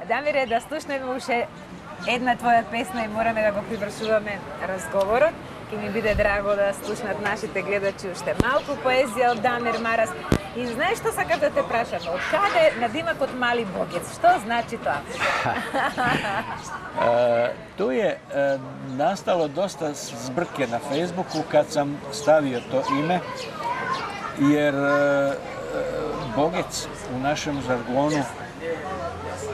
Дамире, да слушнеме уште една твоја песна и мораме да го привршуваме разговорот. Ке ми биде драго да слушнат нашите гледачи уште малку поезија од Дамир Марас. И знаеш што сакам да те прашам? Од каде надимакот Мали Богец? Што значи тоа? Tu je nastalo dosta zbrke na Facebooku kad sam stavio to ime, jer Bogec u našem žargonu,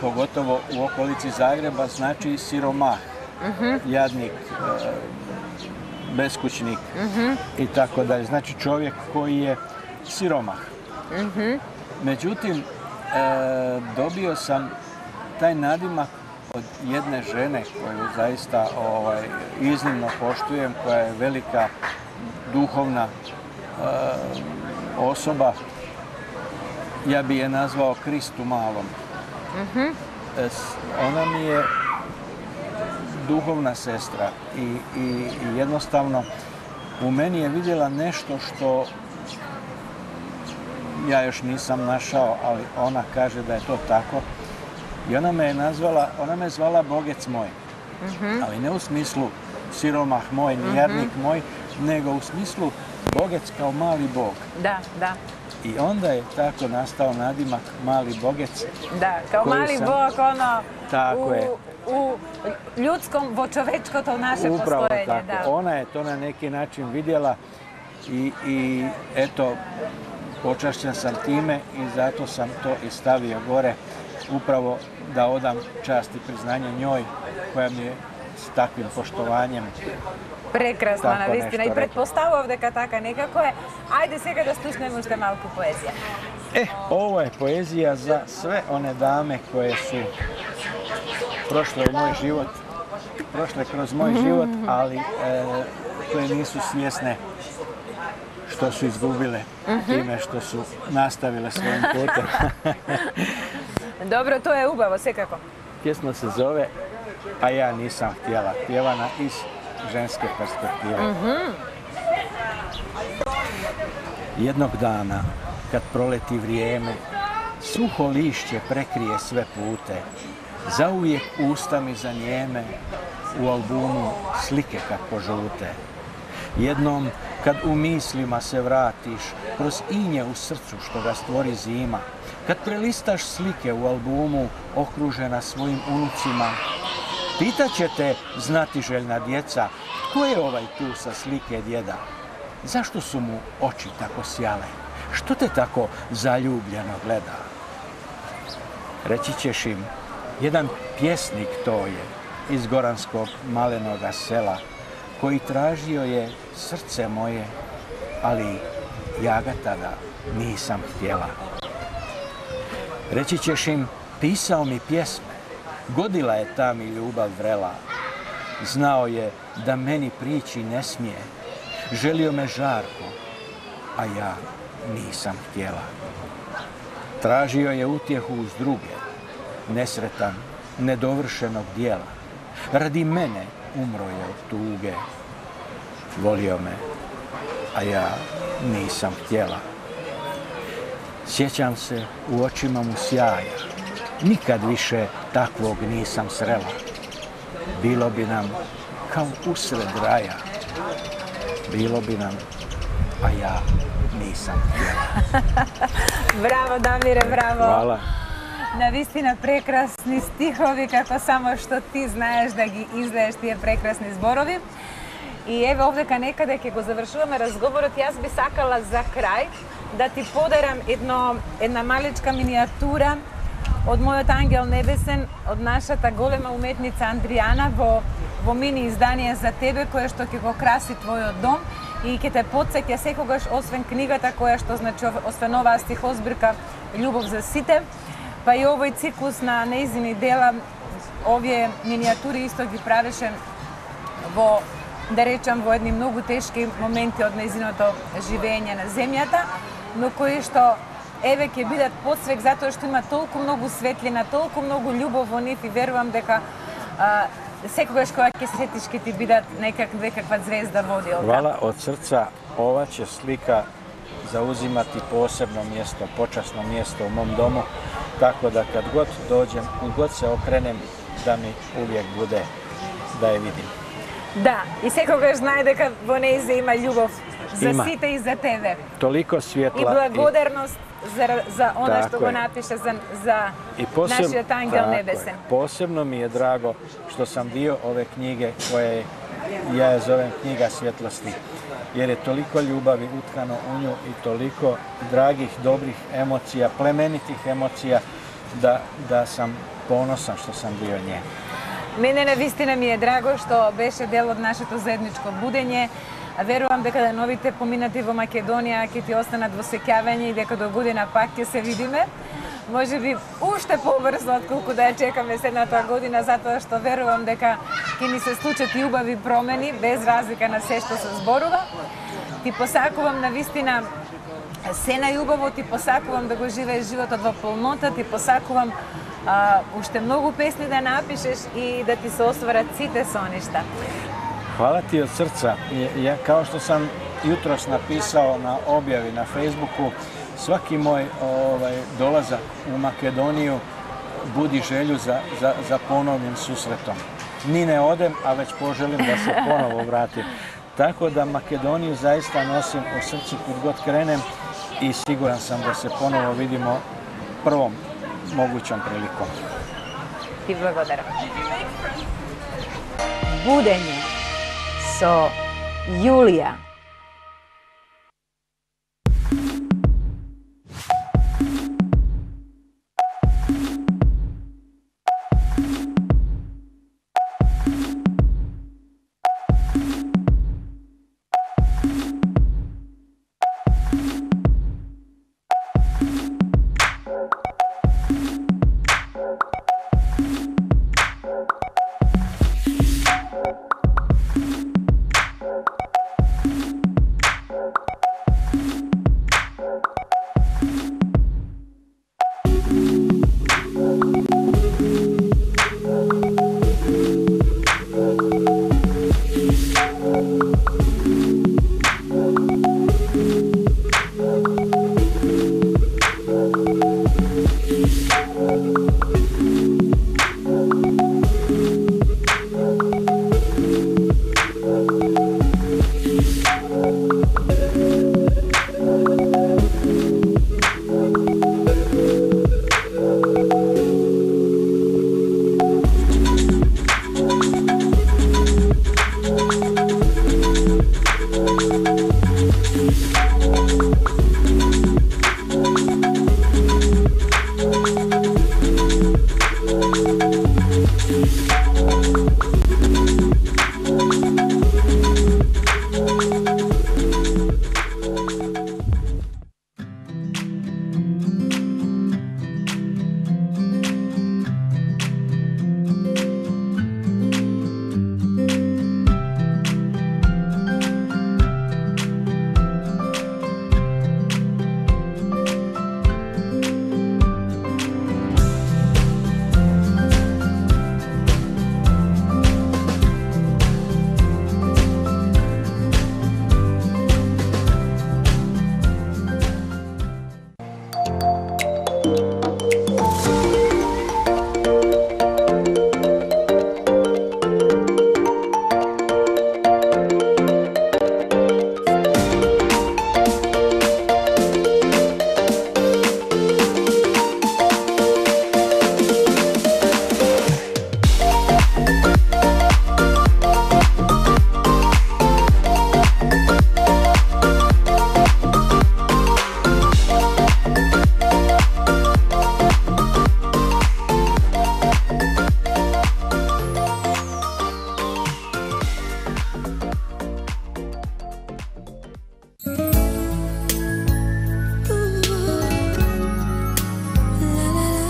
pogotovo u okolici Zagreba, znači siromah, jadnik, beskućnik i tako dalje. Znači čovjek koji je siromah. Međutim, dobio sam taj nadimak od jedne žene koju zaista iznimno poštujem, koja je velika duhovna osoba. Ja bi je nazvao Kristu malom. Ona mi je duhovna sestra i jednostavno u meni je vidjela nešto što ja još nisam našao, ali ona kaže da je to tako. I ona me zvala Bogec moj. Ali ne u smislu siromah moj, ni jadnik moj, nego u smislu Bogec kao mali Bog. Da, da. I onda je tako nastao nadimak Mali Bogec. Da, kao mali Bog, ono, tako u ljudskom, vočovečkoto naše upravo postojenje. Tako. Da. Ona je to na neki način vidjela i eto, počašćen sam time i zato sam to i stavio gore, upravo da odam čast i priznanje njoj, koja mi je s takvim poštovanjem. Прекрасно, навистина. И предпоставував дека така некако е. Ајде сега да слушнеме уште малку поезија. Ovo je poezija za sve one dame koje su prošle u moj život, prošle kroz moj život, ali koje nisu svjesne što su izgubile time što su nastavile svojim putem. Dobro, to je ubavo, sekako. Pjesma se zove A ja nisam htjela, pjevana iz ženske perspektive. Jednog dana, kad proleti vrijeme, suho lišće prekrije sve pute, zauvijek usta mi zanijeme, u albumu slike kako žute. Jednom, kad u mislima se vratiš, kroz inje u srcu što ga stvori zima, kad prelistaš slike u albumu okružena svojim unucima, pitaće te znatiželjna djeca, tko je ovaj tu sa slike djeda? Zašto su mu oči tako sjale? Što te tako zaljubljeno gleda? Reći ćeš im, jedan pjesnik to je iz goranskog malenoga sela, koji tražio je srce moje, ali ja ga tada nisam htjela. Reći ćeš im, pisao mi pjesme, godila je ta mi ljubav vrela. Znao je da meni prići ne smije, želio me žarko, a ja nisam htjela. Tražio je utjehu uz druge, nesretan, nedovršenog dijela. Radi mene umro je od tuge. Volio me, a ja nisam htjela. Sjećam se u očima mu sjaja, nikad više takvog nisam srela. Bilo bi nam kao usred raja. Bilo bi nam, a ja nisam htjela. Браво, Дамире, браво. Hvala. Навистина прекрасни стихови, како само што ти знаеш да ги излееш тие прекрасни зборови. И еве овдека некаде ќе го завршуваме разговорот. Јас би сакала за крај да ти подарам една малечка миниатура од мојот ангел небесен, од нашата голема уметница Андријана во мини издание за тебе, кое што ќе го краси твојот дом и ќе те потсеќа секогаш, освен книгата која што значи освен оваа стихозбирка Љубов за сите, па и овој циклус на нејзини дела, овие миниатури исто ги правеше во, да речам, во едни многу тешки моменти од нејзиното живење на земјата, но кои што еве ќе бидат подсвек затоа што има толку многу светлина, толку многу љубов во нив и верувам дека секогаш кога ќе се сетиш ќе ти бидат некаква звезда водилка. Hvala od srca. Ova će slika zauzimati posebno mjesto, počasno mjesto u mom domu, tako da kad god dođem, kad god se okrenem, da mi uvijek bude da je vidim. Да, и секогаш знае дека во нејзе има љубов за сите и за тебе. Toliko svjetla. И благодарност за она што го напише за нашиот ангел небесен. Posebno mi je drago što sam dio ove knjige koje ja je zovem knjiga svjetlosti, jer je toliko ljubavi utkano u nju i toliko dragih, dobrih emocija, plemenitih emocija da sam ponosan što sam dio nje. Мене навистина ми е драго што беше дел од нашето заедничко будење. Верувам дека новите поминати во Македонија ќе ти останат во сеќавање и дека до година пак ќе се видиме. Може би уште побрзо отколку да ја чекаме следната година, затоа што верувам дека ќе ни се случат и убави промени, без разлика на се што се зборува. Ти посакувам навистина се најубаво, ти посакувам да го живееш животот во полнота, ти посакувам уште многу песни да напишеш и да ти се остварат сите соништа. Hvala ti od srca. Ja, kao što sam jutros napisao na objavi na Facebooku, svaki moj dolazak u Makedoniju budi želju za ponovnim susretom. Ni ne odem, a već poželim da se ponovo vratim. Tako da Makedoniju zaista nosim u srcu kud god krenem i siguran sam da se ponovo vidimo prvom mogućom prilikom. Ti благодарам. Будење со Јулија.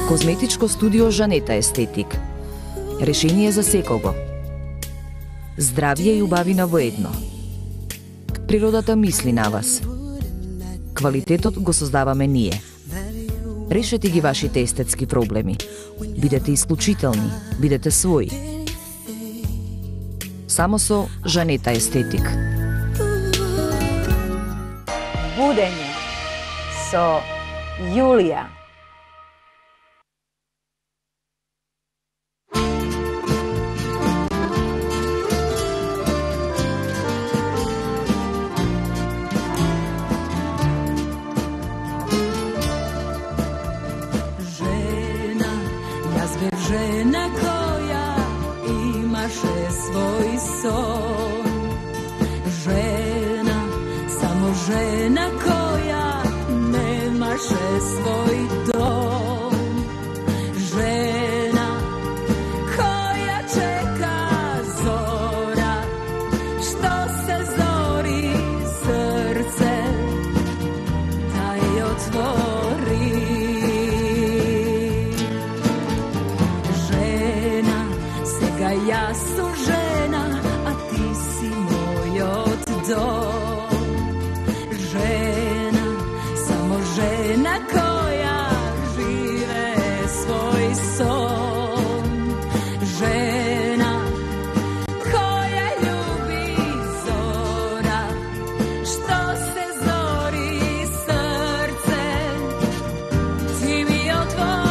Козметичко студио Жанета Естетик. Решение за секого. Здравје и убавина во едно. Природата мисли на вас. Квалитетот го создаваме ние. Решете ги вашите естетски проблеми. Бидете исклучителни, бидете своји. Само со Жанета Естетик. Будење со Јулија. Žena koja imaše svoj son, žena, samo žena koja nemaše svoj dom, žena koja čeka zora, što se zori srce, da je otvori. Ja sam žena, a ti si moj dom. Žena, samo žena koja žive svoj son. Žena koja ljubi zora, što se zori srce, ti mi otvori.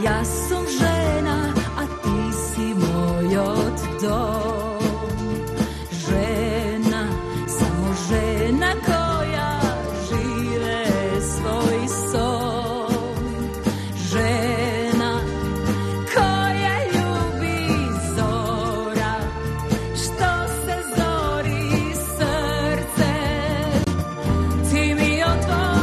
Ja sam žena, a ti si moj dom. Žena, samo žena koja žive svoj son. Žena koja ljubi zora, što se zori srce, ti mi otvori.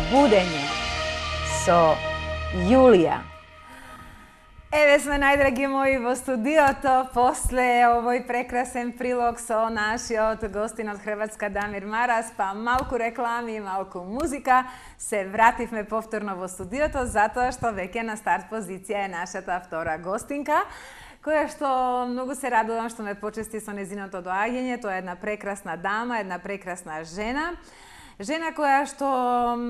Будење со Јулија. Еве сме, најдраги мои, во студиото после овој прекрасен прилог со нашиот гостин од Хрватска Дамир Марас, па малку реклами и малку музика, се вративме повторно во студиото затоа што веќе на старт позиција е нашата втора гостинка, која што многу се радувам што ме почести со незиното доаѓање. Тоа е една прекрасна дама, една прекрасна жена. Жена која што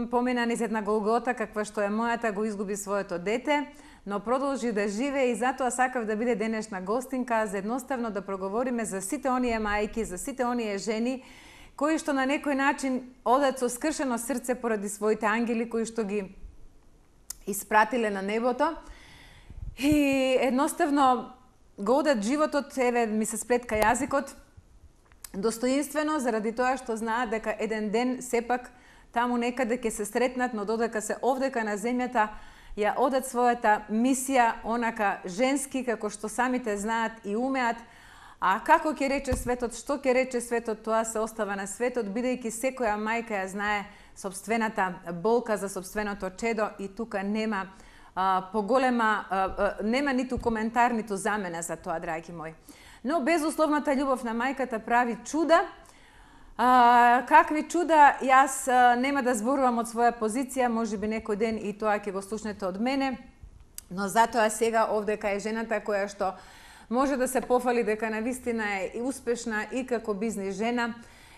помина низ една голгота, каква што е мојата, го изгуби своето дете, но продолжи да живее и затоа сакав да биде денешна гостинка, за едноставно да проговориме за сите оние мајки, за сите оние жени, кои што на некој начин одат со скршено срце поради своите ангели, кои што ги испратиле на небото. И едноставно го одат животот, еве ми се сплетка јазикот, достоинствено, заради тоа што знаат дека еден ден сепак таму некаде ќе се сретнат, но додека се овдека на земјата, ја одат својата мисија онака женски, како што самите знаат и умеат. А како ќе рече светот, што ќе рече светот, тоа се остава на светот, бидејќи секоја мајка ја знае сопствената болка за сопственото чедо и тука нема поголема, нема ниту коментар, ниту замена за тоа, драги мои. Но безусловната љубов на мајката прави чуда. Какви чуда, јас нема да зборувам од своја позиција, можеби некој ден и тоа ќе го слушнете од мене, но затоа сега овдека е жената која што може да се пофали дека навистина е и успешна и како бизнис жена,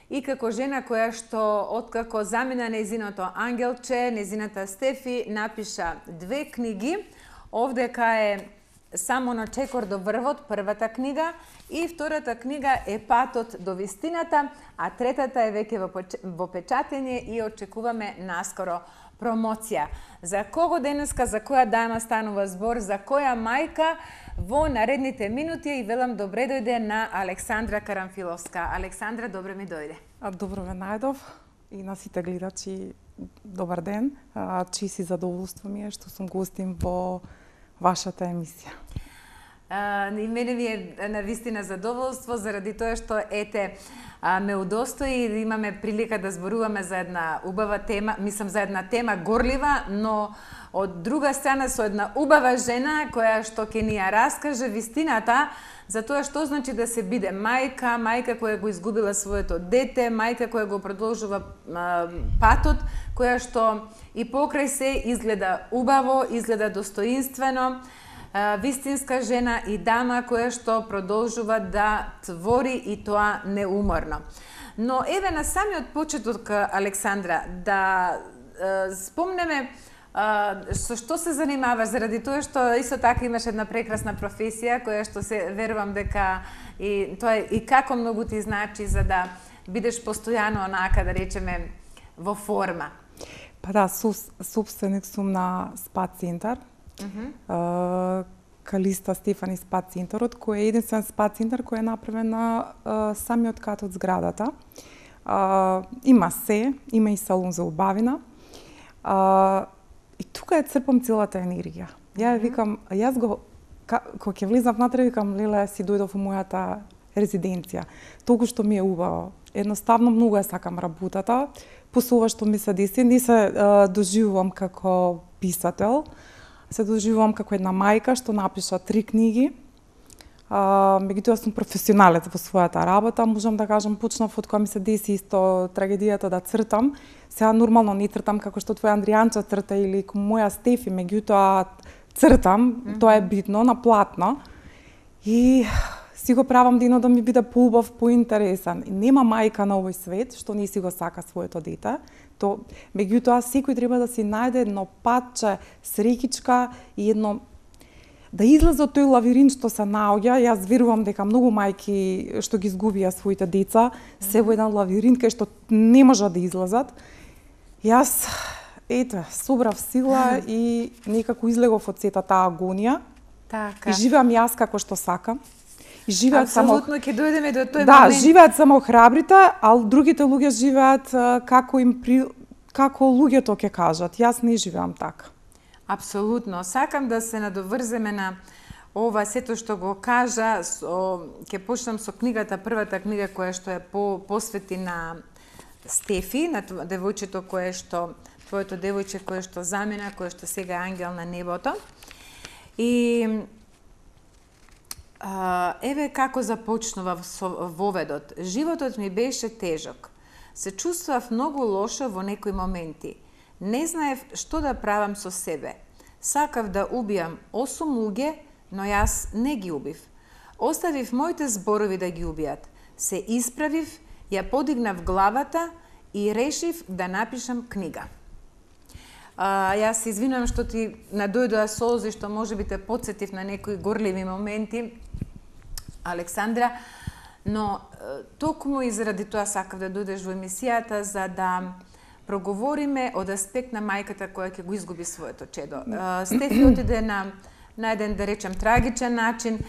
и како жена која што откако замина нејзиното ангелче, нејзината Стефи, напиша 2 книги. Овдека е Само на чекор до врвот, првата книга, и втората книга е Патот до вистината, а третата е веќе во печатење и очекуваме наскоро промоција. За кого денеска, за која дама станува збор, за која мајка во наредните минути, и велам добре дојде на Александра Карамфиловска. Александра, добре ми дојде. Добро ве најдов и на сите гледачи добар ден. Чест и задоволство ми е што сум гостин во вашата емисија. И мене ми е навистина задоволство, заради тоа што ме удостои и имаме прилика да зборуваме за една убава тема, мислам за една тема горлива, но од друга страна со една убава жена која што ќе ни ја раскаже вистината за тоа што значи да се биде мајка, мајка која го изгубила своето дете, мајка која го продолжува патот, која што и покрај се изгледа убаво, изгледа достоинствено, вистинска жена и дама која што продолжува да твори и тоа неуморно. Но еве на самиот почеток, Александра, да спомнеме со што се занимаваш, заради тоа што исто така имаш една прекрасна професија која што се верувам дека и тоа и како многу ти значи за да бидеш постојано онака, да речеме, во форма. Па да, собственик сум на СПА центар. Калиста Стефани СПА центарот, кој е единствен СПА центар кој е направен на самиот кат од зградата. Има се, има и салон за убавина. И тука е црпам целата енергија. Ја викам, јас кога ќе влизам внатре, викам, леле, си дојдов во мојата резиденција. Толку што ми е убаво. Едноставно многу ја сакам работата. После ова што ми се деси, не се доживувам како писател, се доживувам како една мајка што напиша 3 книги. Меѓутоа сум професионалец во својата работа, можам да кажам, почнав од кога ми се деси исто трагедијата да цртам. Сега нормално не цртам како што твоја Андријанча црта или моја Стефи, меѓутоа цртам, тоа е битно, на платно. И си го правам денот да ми биде поубав, поинтересен. И нема мајка на овој свет што не си го сака своето дете. Меѓутоа секој треба да си најде едно патче, среќичка и едно да излезе од тој лавиринт што се наоѓа. Јас верувам дека многу мајки што ги изгубија своите деца се во еден лавиринт кај што не можат да излезат. Јас собрав сила и некако излегов од сета таа агонија. Така. И живеам јас како што сакам. И живеат апсолутно ќе дојдеме до тој момент. Да, живеат само храбрите, а другите луѓе живеат како луѓето ќе кажат. Јас не живеам така. Апсолутно. Сакам да се надоврземе на ова сето што го кажа. Ќе почнам со книгата, првата книга која што е посвети на Стефи, на девојчето кое што, твоето девојче кое што замина, кое што сега е ангел на небото. И еве како започнува воведот. Животот ми беше тежок. Се чувствував многу лошо во некои моменти. Не знаев што да правам со себе. Сакав да убијам 8 луѓе, но јас не ги убив. Оставив моите зборови да ги убијат. Се исправив, ја подигнав главата и решив да напишам книга. Јас се извинувам што ти надојдоа солзи, што можеби те потсетив на некои горливи моменти, Александра, но токму и заради тоа сакав да дојдеш во емисијата за да проговориме од аспект на мајката која ќе го изгуби своето чедо. Стефи отиде на еден, да речем, трагичен начин,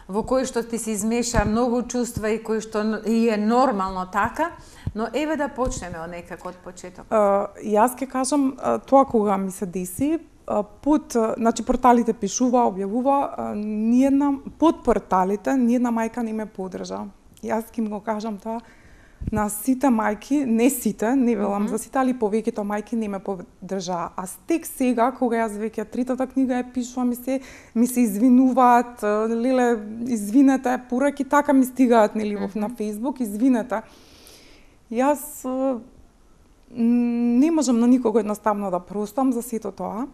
во кој што ти се измеша многу чувства и кој што и е нормално така, но еве да почнеме од некако од почеток. Јас ќе кажам тоа кога ми се деси, значи порталите пишува, објавува, под порталите ниедна мајка не ме подржа. Јас ќе го кажам тоа на сите мајки, не сите, не велам за сите, али повеќето мајки не ме поддржаа. А стек сега, кога јас веќе третата книга ја пишувам, ми се извинуваат, леле, извинете, пораки така ми стигаат, нели, на Facebook, извинете. Јас не можам на никого едноставно да простам за сето тоа.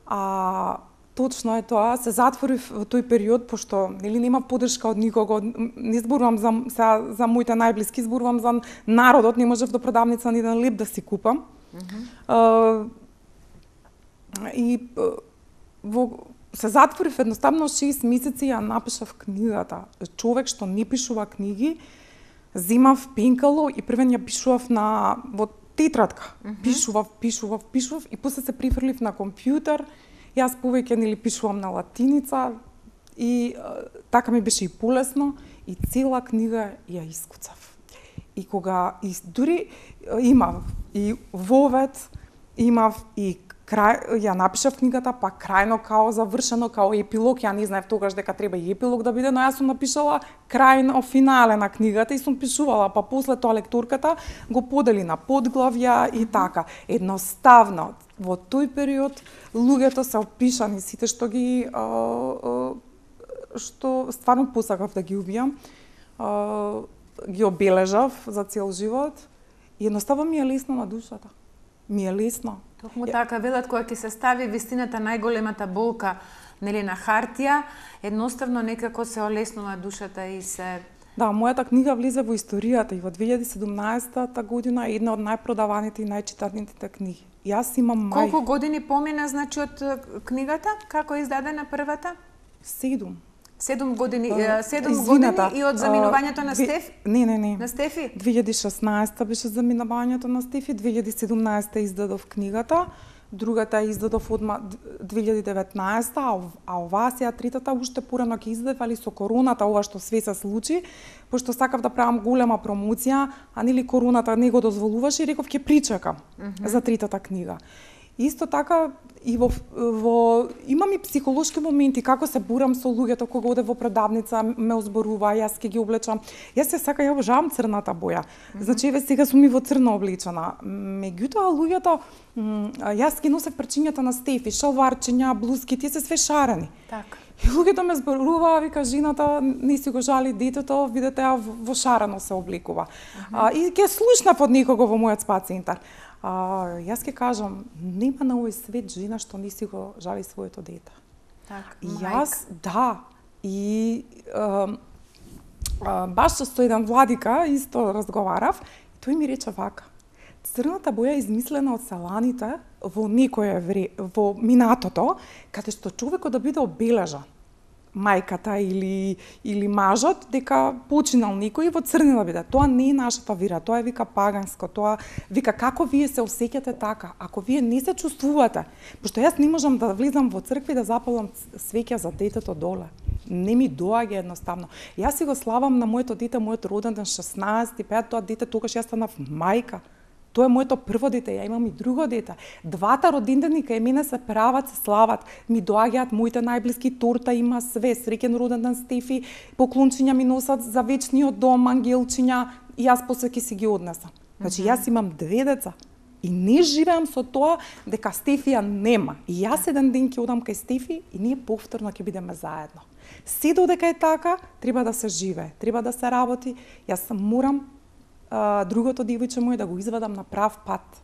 А точно е тоа, се затворив во тој период, пошто нели нема поддршка од никого, не зборувам за моите најблиски, зборувам за народот, не можев до продавница ни еден леп да си купам. Се затворив едноставно 6 месеци, ја напишав книгата. Човек што не пишува книги, земав пенкало и првен ја пишував во тетрадка. Пишував и после се прифрлив на компјутер. Јас повеќе нели пишувам на латиница и така ми беше и полесно и цела книга ја искуцав. И кога дури имав и вовет, имав и ја напишав книгата, па крајно као завршено, као епилог, ја не знаев тогаш дека треба и епилог да биде, но јас сум напишала крајно финале на книгата и сум пишувала, па после тоа лекторката го подели на подглавја и така. Едноставно, во тој период луѓето се опишани, сите што што стварно посакав да ги убијам, ги обележав за цел живот и едноставно ми е лесно на душата. Ми е лесно. Токму така, велат, кога ќе се стави вистината најголемата болка, нели, на хартија, едноставно некако се олеснува душата и се... Да, мојата книга влезе во историјата и во 2017 година е една од најпродаваните и најчитаните книги. Јас имам Колку години помина, значи, од книгата? Како е издадена првата? 7. 7 години, 7 години и од заминувањето на Стефи? Не. На Стефи? 2016 беше заминувањето на Стефи, 2017 издадов книгата, другата издадов одма 2019, а оваа сега третата уште порано ќе издадев, али со короната, ова што све се случи, пошто сакав да правам голема промоција, а нели короната не го дозволуваше и реков ќе причекам за третата книга. Исто така и имам и психолошки моменти, како се бурам со луѓето кога оде во продавница, ме озборува, јас ќе ги облечам. Јас ја обожавам црната боја. Значи, еве сега сум и во црно облечена. Меѓутоа луѓето, јас ги носев прчињата на Стефи, шалварчиња, блузки, тие се све шарени. Така. И луѓето ме зборуваа, вика, жената не си го жали детето, видете, во шарено се облекува. И ќе слушнав од некого во мојот спа центар. Јас ќе кажам, нема на овој свет жена што не си го жали своето дете. Така, јас, да, и баш со еден владика исто разговарав, и тој ми рече вака, црната боја е измислена од селаните во во минатото, каде што човекот да биде обележан, мајката или мажот, дека починал некој во црни да биде. Тоа не е нашата вера, тоа е вика паганско, тоа вика како вие се осеќате така, ако вие не се чувствувате, пошто јас не можам да влезам во црква и да запалам свеќа за детето доле. Не ми доаѓа едноставно. Јас си го славам на моето дете, мојот роден ден 16, тоа дете тогаш јас станав мајка. Тоа е моето прво дете, ја имам и друго дете. Двата родендени кај мене се прават, се слават. Ми доаѓаат моите најблиски, торта има све, среќен роден ден Стефи, поклончиња ми носат за вечниот дом, ангелчиња, и јас после ќе си ги однесам. Значи, јас имам 2 деца. И не живеам со тоа дека Стефија нема. И јас еден ден ќе одам кај Стефи и ние повторно ќе бидеме заедно. Се додека е така, треба да се живее, треба да се работи. Јас морам другото девојче мој да го извадам на прав пат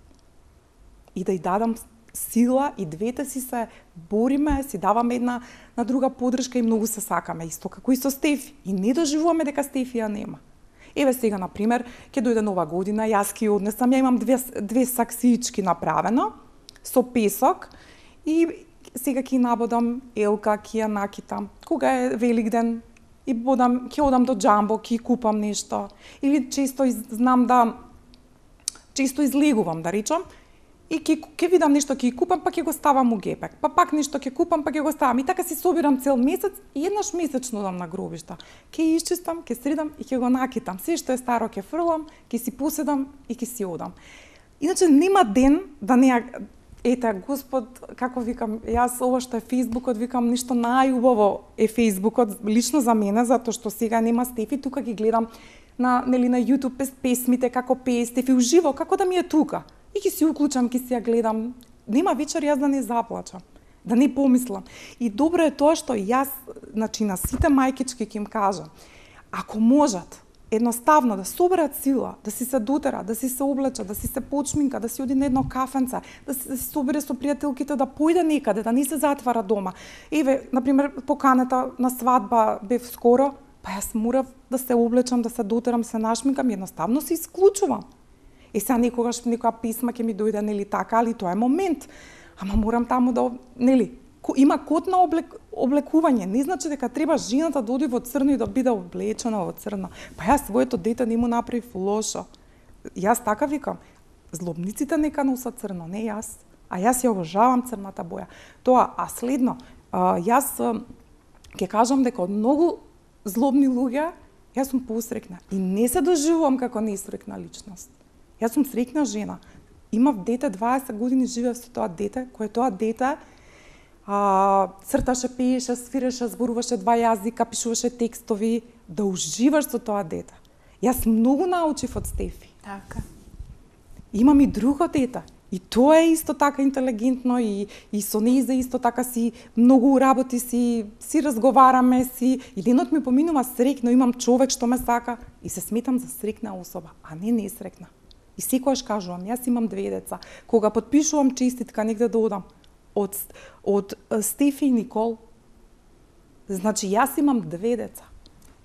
и да ја дадам сила и двете си се бориме, си даваме една на друга поддршка и многу се сакаме, исто како и со Стефи. И не доживуваме дека Стефија нема. Еве сега, на пример, ќе дојде нова година, јас ќе однесам, ја имам две саксиички направено, со песок, и сега ќе набодам елка, ќе ја накитам. Кога е Великден, и ќе одам до џамбо, ќе купам нешто. Или често излегувам, да речам, и ќе видам нешто, ќе купам, па ќе го ставам у гепек. Па пак нешто ќе купам, па ќе го ставам. И така си собирам цел месец и еднаш месечно одам на гробишта. Ќе исчистам, ќе средам и ќе го накитам. Се што е старо ќе фрлам, ќе си поседам и ќе си одам. Иначе нема ден да не ете, Господ, како викам, јас ова што е Фејсбукот, викам, ништо најубаво е Фејсбукот, лично за мене, затоа што сега нема Стефи, тука ги гледам на YouTube песмите, како пее Стефи уживо, како да ми е тука. И ќе си уклучам, ќе си ја гледам. Нема вечер јас да не заплачам, да не помислам. И добро е тоа што јас, значи, на сите мајкички ќе им кажам, ако можат, едноставно да соберат сила, да си се дотерат, да си се облечат, да си се почминка, да си оди на едно кафенце, да си собере со пријателките, да појде некаде, да не се затвара дома. Еве, например, поканата на свадба бев скоро, па јас морав да се облечам, да се дотерам, се нашминкам, едноставно се исклучувам. Сега некоја писма ќе ми дојде, нели така, али тоа е момент. Ама морам таму да, нели, има код на облекување. Не значи дека треба жената да оди во црно и да биде облечена во црно. Па јас своето дете не му направив лошо. Јас така викам, злобниците нека носат црно, не јас. А јас ја обожавам црната боја. Тоа, а следно, јас ќе кажам дека од многу злобни луѓе јас сум посрекна и не се доживувам како несрекна личност. Јас сум срекна жена. Имав дете, 20 години живеев со тоа дете, кое тоа дете црташе, пееше, свиреше, зборуваше 2 јазика, пишуваше текстови, да уживаш со тоа дете. Јас многу научив од Стефи. Така. Имам и друго дете. И тоа е исто така интелигентно и со нејзе исто така си многу работи си разговараме си и денот ми поминува срекно, имам човек што ме сака и се сметам за срекна особа, а не несрекна. И секогаш кажувам, јас имам 2 деца. Кога потпишувам честитка негде да одам од Стефи и Никол, значи јас имам 2 деца.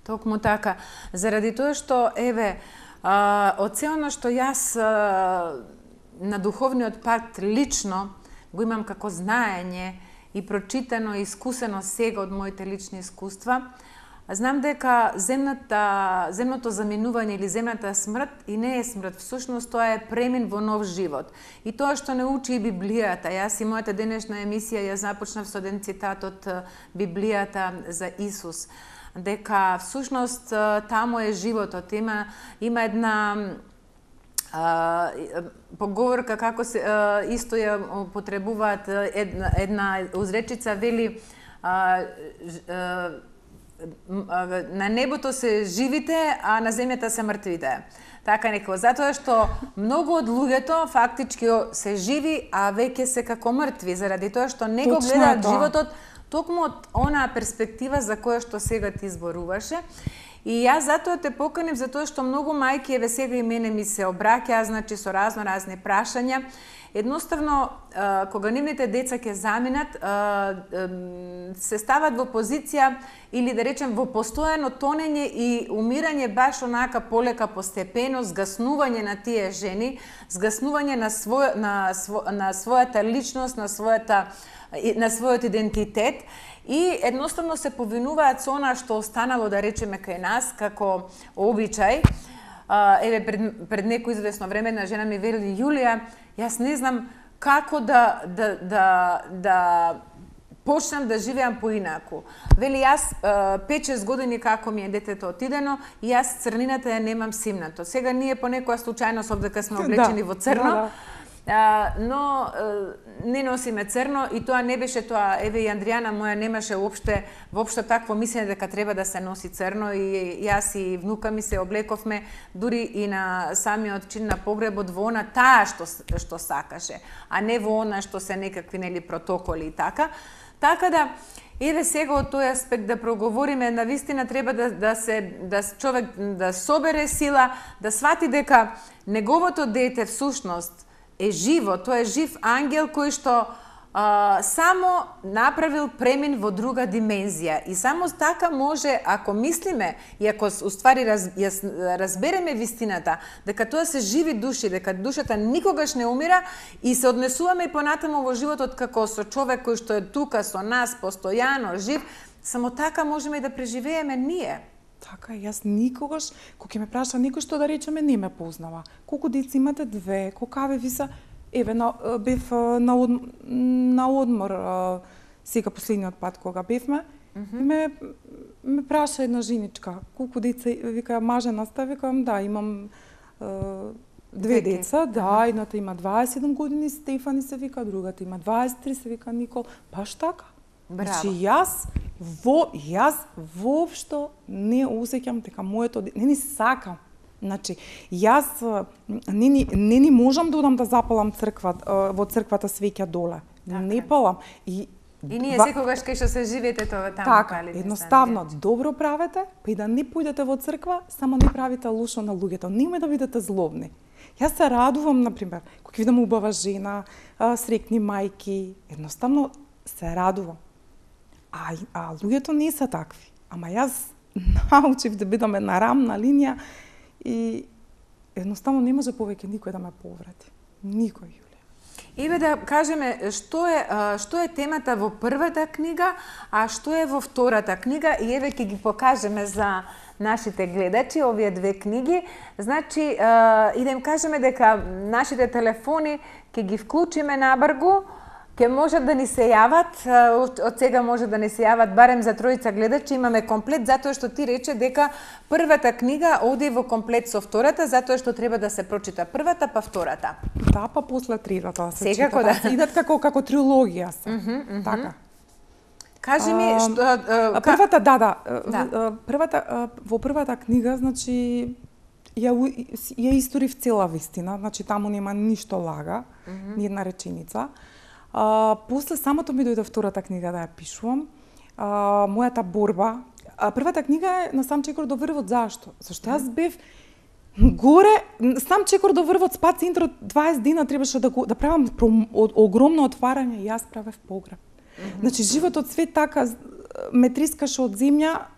Токму така. Заради тоа што, еве, од се оно што јас на духовниот пат лично го имам како знаење и прочитано и искусено сега од моите лични искуства, знам дека земното заминување или земната смрт и не е смрт, всушност тоа е премин во нов живот. И тоа што не учи и Библијата. Јас и мојата денешна емисија ја започнав со еден цитат од Библијата за Исус, дека всушност таму е животот. Има една поговорка како се исто ја употребуваат, една узречица вели на небото се живите, а на земјата се мртвите. Така некако, затоа што многу од луѓето фактички се живи, а веќе се како мртви, заради тоа што не го гледаат животот токму од онаа перспектива за која што сега ти зборуваше. И јас затоа те поканив, затоа што многу мајки, еве сега и мене ми се обраќаа, значи со разни прашања. Едноставно, кога нивните деца ќе заминат, се стават во позиција или да речем во постојано тонење и умирање баш онака полека постепено, згаснување на тие жени, згаснување на својата личност, на својот идентитет и едноставно се повинуваат со она што останало, да речеме, кај нас како обичај. Еве, пред некој известно време една жена ми вели: Јулија, јас не знам како да почнам да живеам поинаку. Вели, јас 5-6 години како ми е детето отидено и јас црнината ја немам симнато. Сега ние по некоја случајност обдека сме облечени во црно, но не носиме црно и тоа не беше тоа. Еве и Андријана моја немаше воопшто такво мислење дека треба да се носи црно и јас и внука ми се облековме дури и на самиот чин на погребот во она таа што сакаше, а не во она што се некакви нели протоколи и така. Така да еве сега од тој аспект да проговориме, навистина треба да човек да собере сила, да свати дека неговото дете всушност е живо, тоа е жив ангел кој што само направил премин во друга димензија и само така може, ако мислиме и ако уствари разбереме вистината, дека тоа се живи души, дека душата никогаш не умира и се однесуваме и понатаму во животот како со човек кој што е тука со нас постојано жив, само така можеме и да преживееме ние. Така, јас никогаш, кога ќе ме праша некој што да речеме не ме познава. Колку деца имате? 2, колкаве ви се? Еве, бев на одмор сега последниот пат кога бевме, ме праша една женичка, колку деца, вика, мажена сте, викам, да, имам 2 деца, да, едната има 27 години, Стефани се вика, другата има 23, се вика Никол, баш така. Значи, јас воопшто не осеќам дека моето, не ни сакам. Значи, јас не ни можам да одам да запалам во црквата свеќа доле. Не палам. И ние секогаш кај што се живеете тоа таму така, едноставно, добро правете, па и да не појдете во црква, само не правите лошо на луѓето. Немој да бидете злобни. Јас се радувам, например, кога видам убава жена, срекни мајки, едноставно се радувам. А луѓето не се такви. Ама јас научив да бидам една рамна линија и едноставно не може повеќе никој да ме повреди. Никој, Јулија. Еве да кажеме што е темата во првата книга, а што е во втората книга и еве ќе ги покажеме за нашите гледачи овие 2 книги. Значи и да им кажеме дека нашите телефони ќе ги вклучиме набргу, ќе можат да ни се јават, од сега може да ни се јават барем за 3 гледачи, имаме комплет, затоа што ти рече дека првата книга оди во комплет со втората, затоа што треба да се прочита првата, па втората. Да, па после третата да се секако чита. Да. Идат како трилогија се. Така. Кажи ми што првата, првата во првата книга, значи ја историв цела вистина, значи таму нема ништо лага, ни една реченица. После самото ми дојде втората книга да ја пишувам, мојата борба. Првата книга е на сам чекор до врвот. Зашто? Зашто јас бев горе, сам чекор до врвот, спа центар 20 дена требаше да правам огромно отварање, јас правев погреб. Значи животот све така ме трискаше од земја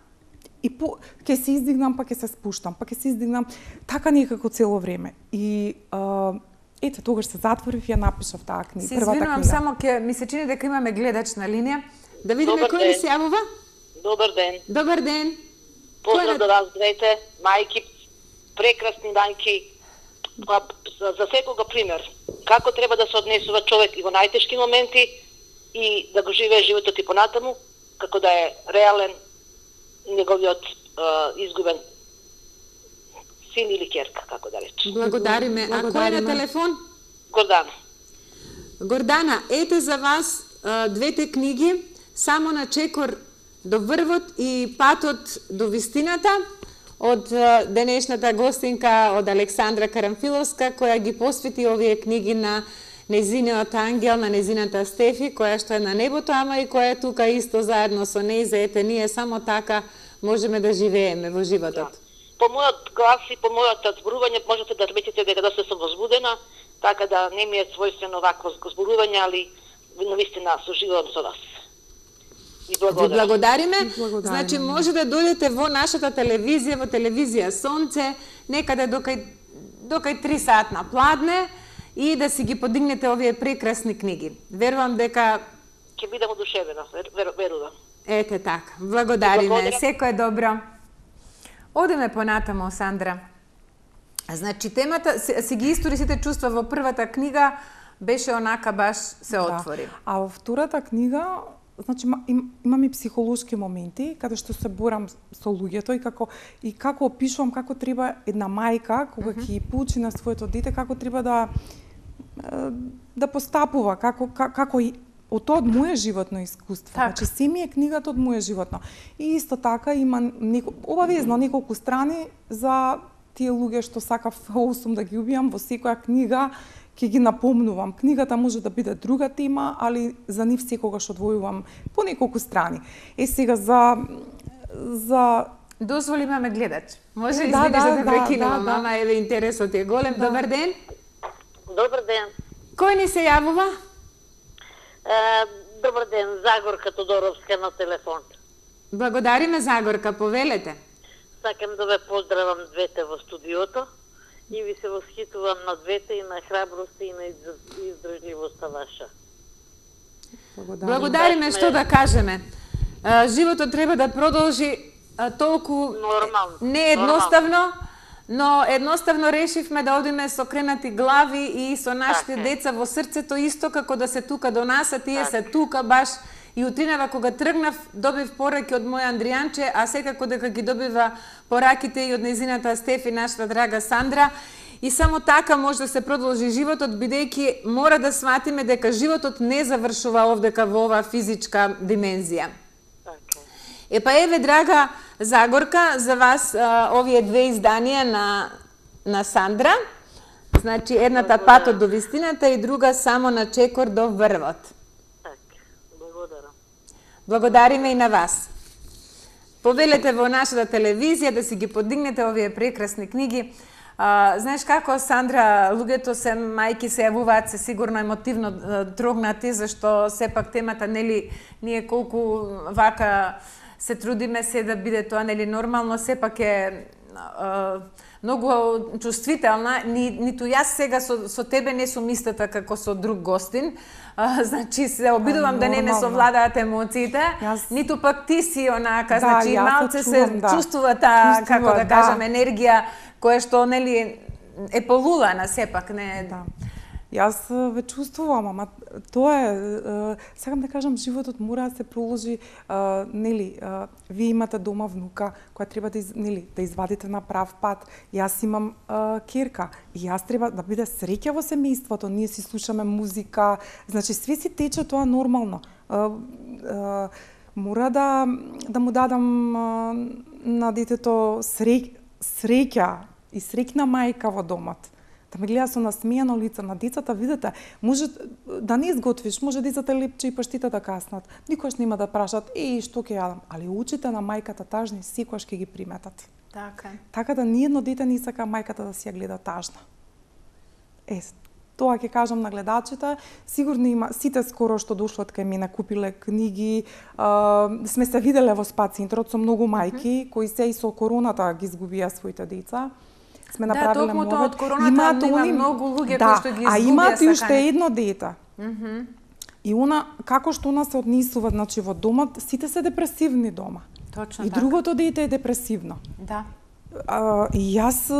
и ќе се издигнам, па ќе се спуштам, па ќе се издигнам, така некако цело време. И ете, тогаш се затворив и ја напишав таа книга, првата книга. Се извинувам, само ми се чини дека имаме гледач на линија. Да видиме кој ни се јавува. Добар ден. Добар ден. Поздрав до вас двете, мајки, прекрасни мајки. За секога пример. Како треба да се однесува човек и во најтешки моменти и да го живее животот и понатаму, како да е реален неговиот изгубен син или керка, како да речем. Благодариме. А кој е на телефон? Гордана. Гордана, ете за вас 2 книги, Само на чекор до врвот и Патот до вистината, од денешната гостинка од Александра Карамфиловска, која ги посвети овие книги на незиниот ангел, на незината Стефи, која што е на небото, ама и која е тука исто заедно со нејзе. Ете, ние само така можеме да живееме во животот. Да. По мојот глас и по мојот зборување можете да приметите дека доста сум возбудена, така да не ми е својствено вакво зборување, али навистина соживувам со вас. Ви благодариме. Значи може да дојдете во нашата телевизија, во телевизија Сонце, некаде докај 3 саат на пладне и да си ги подигнете овие прекрасни книги. Верувам дека ќе бидам одушевена, верувам. Ете така. Благодариме. Секој е добро. Одеме понатамо, Сандра. Значи темата си ги истори сите чувства во првата книга, беше онака баш се отвори. А во втората книга, значи имам и психолошки моменти каде што се борам со луѓето и како опишувам како треба една мајка кога ќе поучи на своето дете како треба да постапува, како од тоа од моје животно искуство. Значи се ми е книгата од моје животно. И исто така има обавезно неколку страни за тие луѓе што сакав да ги убијам во секоја книга. Ќе ги напомнувам. Книгата може да биде друга тема, али за нив секогаш одвојувам по неколку страни. Сега за дозволи имаме гледач. Може извиниш да те прекинувам, ама еве интересот е голем. Добар ден. Добар ден. Кој ни се јавува? Добар ден, Загорка Тодоровска на телефон. Благодариме, Загорка, повелете. Сакам да ве поздравам двете во студиото и ви се восхитувам на двете и на храброста и на издржливоста ваша. Благодариме, што да кажеме. Животот треба да продолжи толку не едноставно, но едноставно решивме да одиме со кренати глави и со нашите деца во срцето, исто како да се тука до нас, а тие се тука баш. И утринава кога тргнав, добив пораки од мој Андријанче, а секако дека ги добива пораките и од незината Стефи, нашата драга Сандра. И само така може да се продолжи животот, бидејќи мора да сватиме дека животот не завршува овдека во оваа физичка димензија. Епа еве, драга Загорка, за вас овие две изданија на Сандра. Значи, едната Патот до вистината и друга Само на чекор до врвот. Благодариме и на вас. Повелете во нашата телевизија да си ги подигнете овие прекрасни книги. Знаеш како, Сандра, луѓето се, мајки се јавуваат се сигурно емотивно трогнати, зашто сепак темата, нели, ние колку вака се трудиме се да биде тоа, нели, нормално, сепак е многу чувствителна. Ниту јас сега со тебе не сум истата како со друг гостин. Значи се обидувам да не ме совладаат емоциите, ниту пак ти си онака, значи малце се чувствува таа, како да кажам, енергија која што, нели, е полулана сепак, не... Јас ве чувствувам, ама тоа е, сакам да кажам, животот мора да се проложи, нели, вие имате дома внука која треба да, нели, да извадите на прав пат. Јас имам керка и јас треба да биде среќа во семејството, ние си слушаме музика, значи све си тече тоа нормално. Мора да му дадам на детето среќа и среќна мајка во домот. Да ме гледа со насмејано лице на децата, видите, може да не изготвиш, може децата лепче и паштите да каснат. Никош нема да прашат, што ќе јадам, али учите на мајката тажни, секојаш ќе ги приметат. Така да ниедно дете не сака мајката да си ја гледа тажна. Тоа ќе кажам на гледачите, сигурно има, сите скоро што дошлат кај мене купиле книги, сме се виделе во СПА центрот со многу мајки, кои се и со короната ги изгубија своите деца. Сме направиле токму од короната има многу луѓе кои што ги изгубија сакање. А имаат и уште едно дете. И она, како што она се однесува, значи во домот, сите се депресивни дома. Точно и другото дете е депресивно. Да. И јас,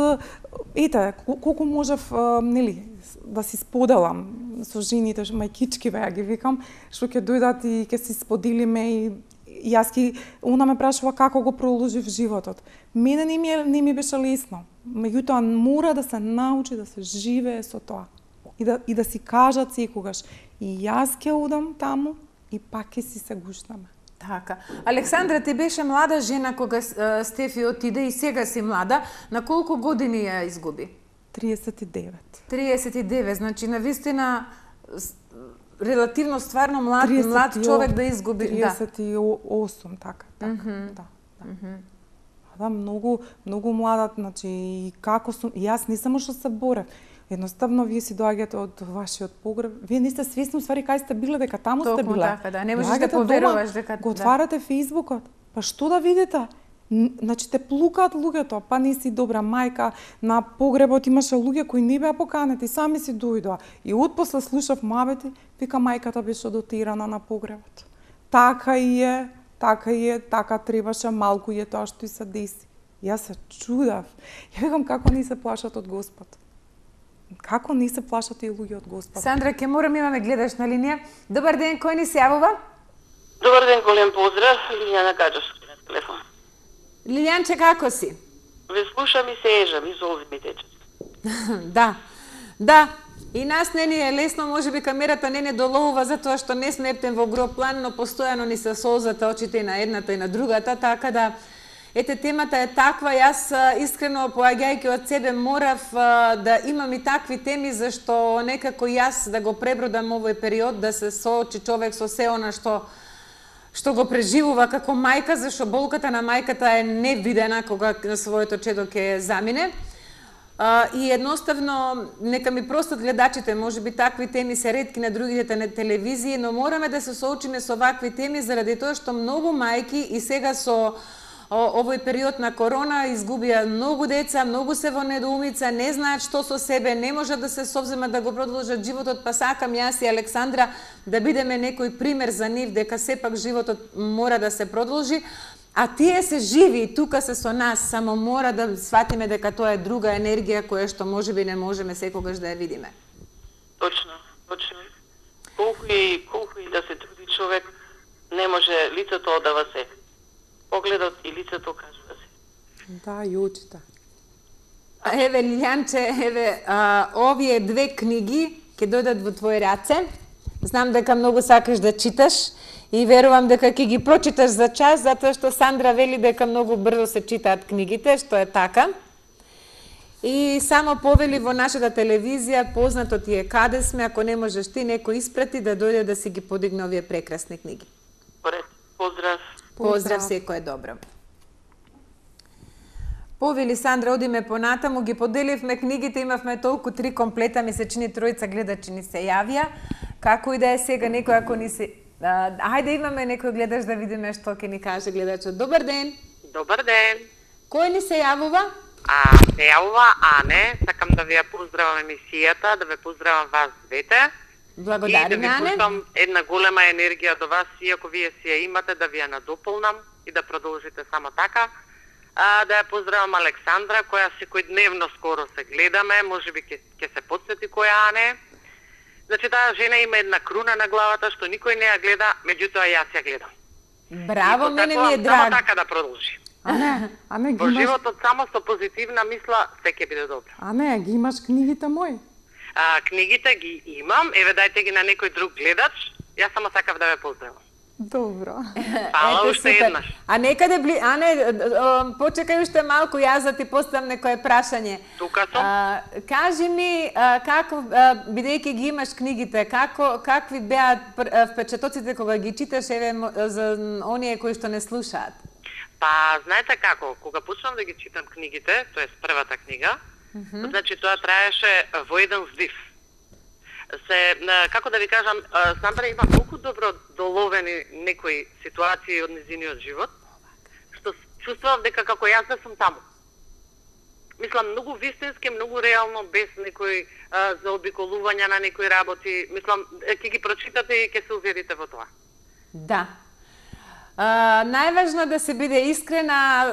колку можев, нели, да си споделам со жените, мајкички ја ги викам, што ќе дојдат и ќе си споделиме и јас она ме прашува како го проложив животот. Мене не ми беше лесно. Меѓутоа мора да се научи да се живее со тоа. И да си кажат секогаш, и јас ќе одам таму и пак ќе си се гушнаме. Така. Александра, ти беше млада жена кога Стефи отиде и сега си млада. На колку години ја изгуби? 39. 39, значи навистина релативно стварно млад човек да изгуби. 38, така. Да, многу млада, значи, и како сум, јас не само што се борев, едноставно вие си доаѓате од вашиот погреб, вие не сте свесни уствари кај сте биле, дека таму сте биле. Така, да, не можеш да поверуваш дека го отварате Фејсбукот, па што да видите? Значи те плукаат луѓето, па не си добра мајка, на погребот имаше луѓе кои не беа поканети, сами си дојдоа. И отпосле слушав мабети, вика мајката беше дотирана на погребот. Така е, така требаше, малку е тоа што и се деси. Јас се чудав. Ја викам како не се плашат од Господ. Како не се плашат и луѓе од Господ. Сандра, ке морам, имаме гледаш на линија. Добар ден, кој ни се јавува? Добар ден, голем поздрав, Лилијана Гаджевска на телефон. Лилијанче, како си? Ве слушам и се ежам, и золзи ми течат. Да. И нас не ни е лесно, можеби камерата не доловува затоа што не сме ептен во гроб план, но постојано ни се солзата очите и на едната и на другата, така да ете темата е таква. Јас искрено поаѓајќи од себе морав да имам и такви теми, зашто некако јас да го пребродам овој период, да се соочи човек со се она што го преживува како мајка, зашто болката на мајката е невидена кога своето чедо ќе замине. И едноставно, нека ми простат гледачите, може би такви теми се ретки на другите телевизии, но мораме да се соочиме со вакви теми заради тоа што многу мајки и сега со овој период на корона изгубија многу деца, многу се во недоумица, не знаат што со себе, не можат да се совземат да го продолжат животот, па сакам јас и Александра да бидеме некој пример за нив дека сепак животот мора да се продолжи. А тие се живи и тука се со нас, само мора да сватиме дека тоа е друга енергија која што можеби не можеме секогаш да ја видиме. Точно. Колку и да се труди човек, не може лицето одава се. Погледот и лицето кажува се. Да, и очите. Еве, Лилјанче, овие 2 книги ќе дојдат во твои раце. Знам дека многу сакаш да читаш и верувам дека ќе ги прочиташ за час, затоа што Сандра вели дека многу брзо се читаат книгите, што е така. И само повели во нашата телевизија, познато ти е каде сме, ако не можеш ти, некој испрати да дојде да си ги подигне овие прекрасни книги. Поздрав. Поздрав, секој е добро. Повели Сандра, одиме понатаму, ги поделивме книгите, имавме толку 3 комплета, ми се чини 3 гледачи ни се јавија. Како и да е сега некој ако ни се... Хајде имаме некој гледач да видиме што ќе ни каже гледачот. Добар ден! Добар ден! Кој ни се јавува? Се јавува Ане, сакам да ви ја поздравам емисијата, да ве поздравам вас двете. Благодарим, и да ви Ане. пуштам една голема енергија до вас, иако вие си ја имате, да ви ја надополнам и да продолжите само така. Да ја поздравам Александра, која секојдневно скоро се гледаме, можеби ќе се подсети која Ане. Значи, таа жена има една круна на главата, што никој не ја гледа, меѓутоа јас ја гледам. Браво, мене ми е Само драг. така да продолжи. Ане, ги Во имаш... животот само со позитивна мисла, се ќе биде добро. Ане, ги имаш книгите мои? Книгите ги имам, еве дајте ги на некој друг гледач, јас само сакав да ве поздравам. Добро. Фала Ете, уште супер. еднаш. А некаде Ане, почекај уште малку, јас да ти поставам некое прашање. Тука сум. Кажи ми, како, бидејќи ги имаш книгите, какви беа впечатоците кога ги читаш, еве, за оние кои што не слушаат? Па, знаете како, кога почнам да ги читам книгите, тоа е првата книга, значи тоа траеше во еден здив. Како да ви кажам, Сандра има толку добро доловени некои ситуации од незиниот живот, што чувствував дека како јас да сум таму. Мислам, многу вистински, многу реално, без некои заобиколувања на некои работи. Мислам, ќе ги прочитате и ќе се уверите во тоа. Да. Најважно да се биде искрена,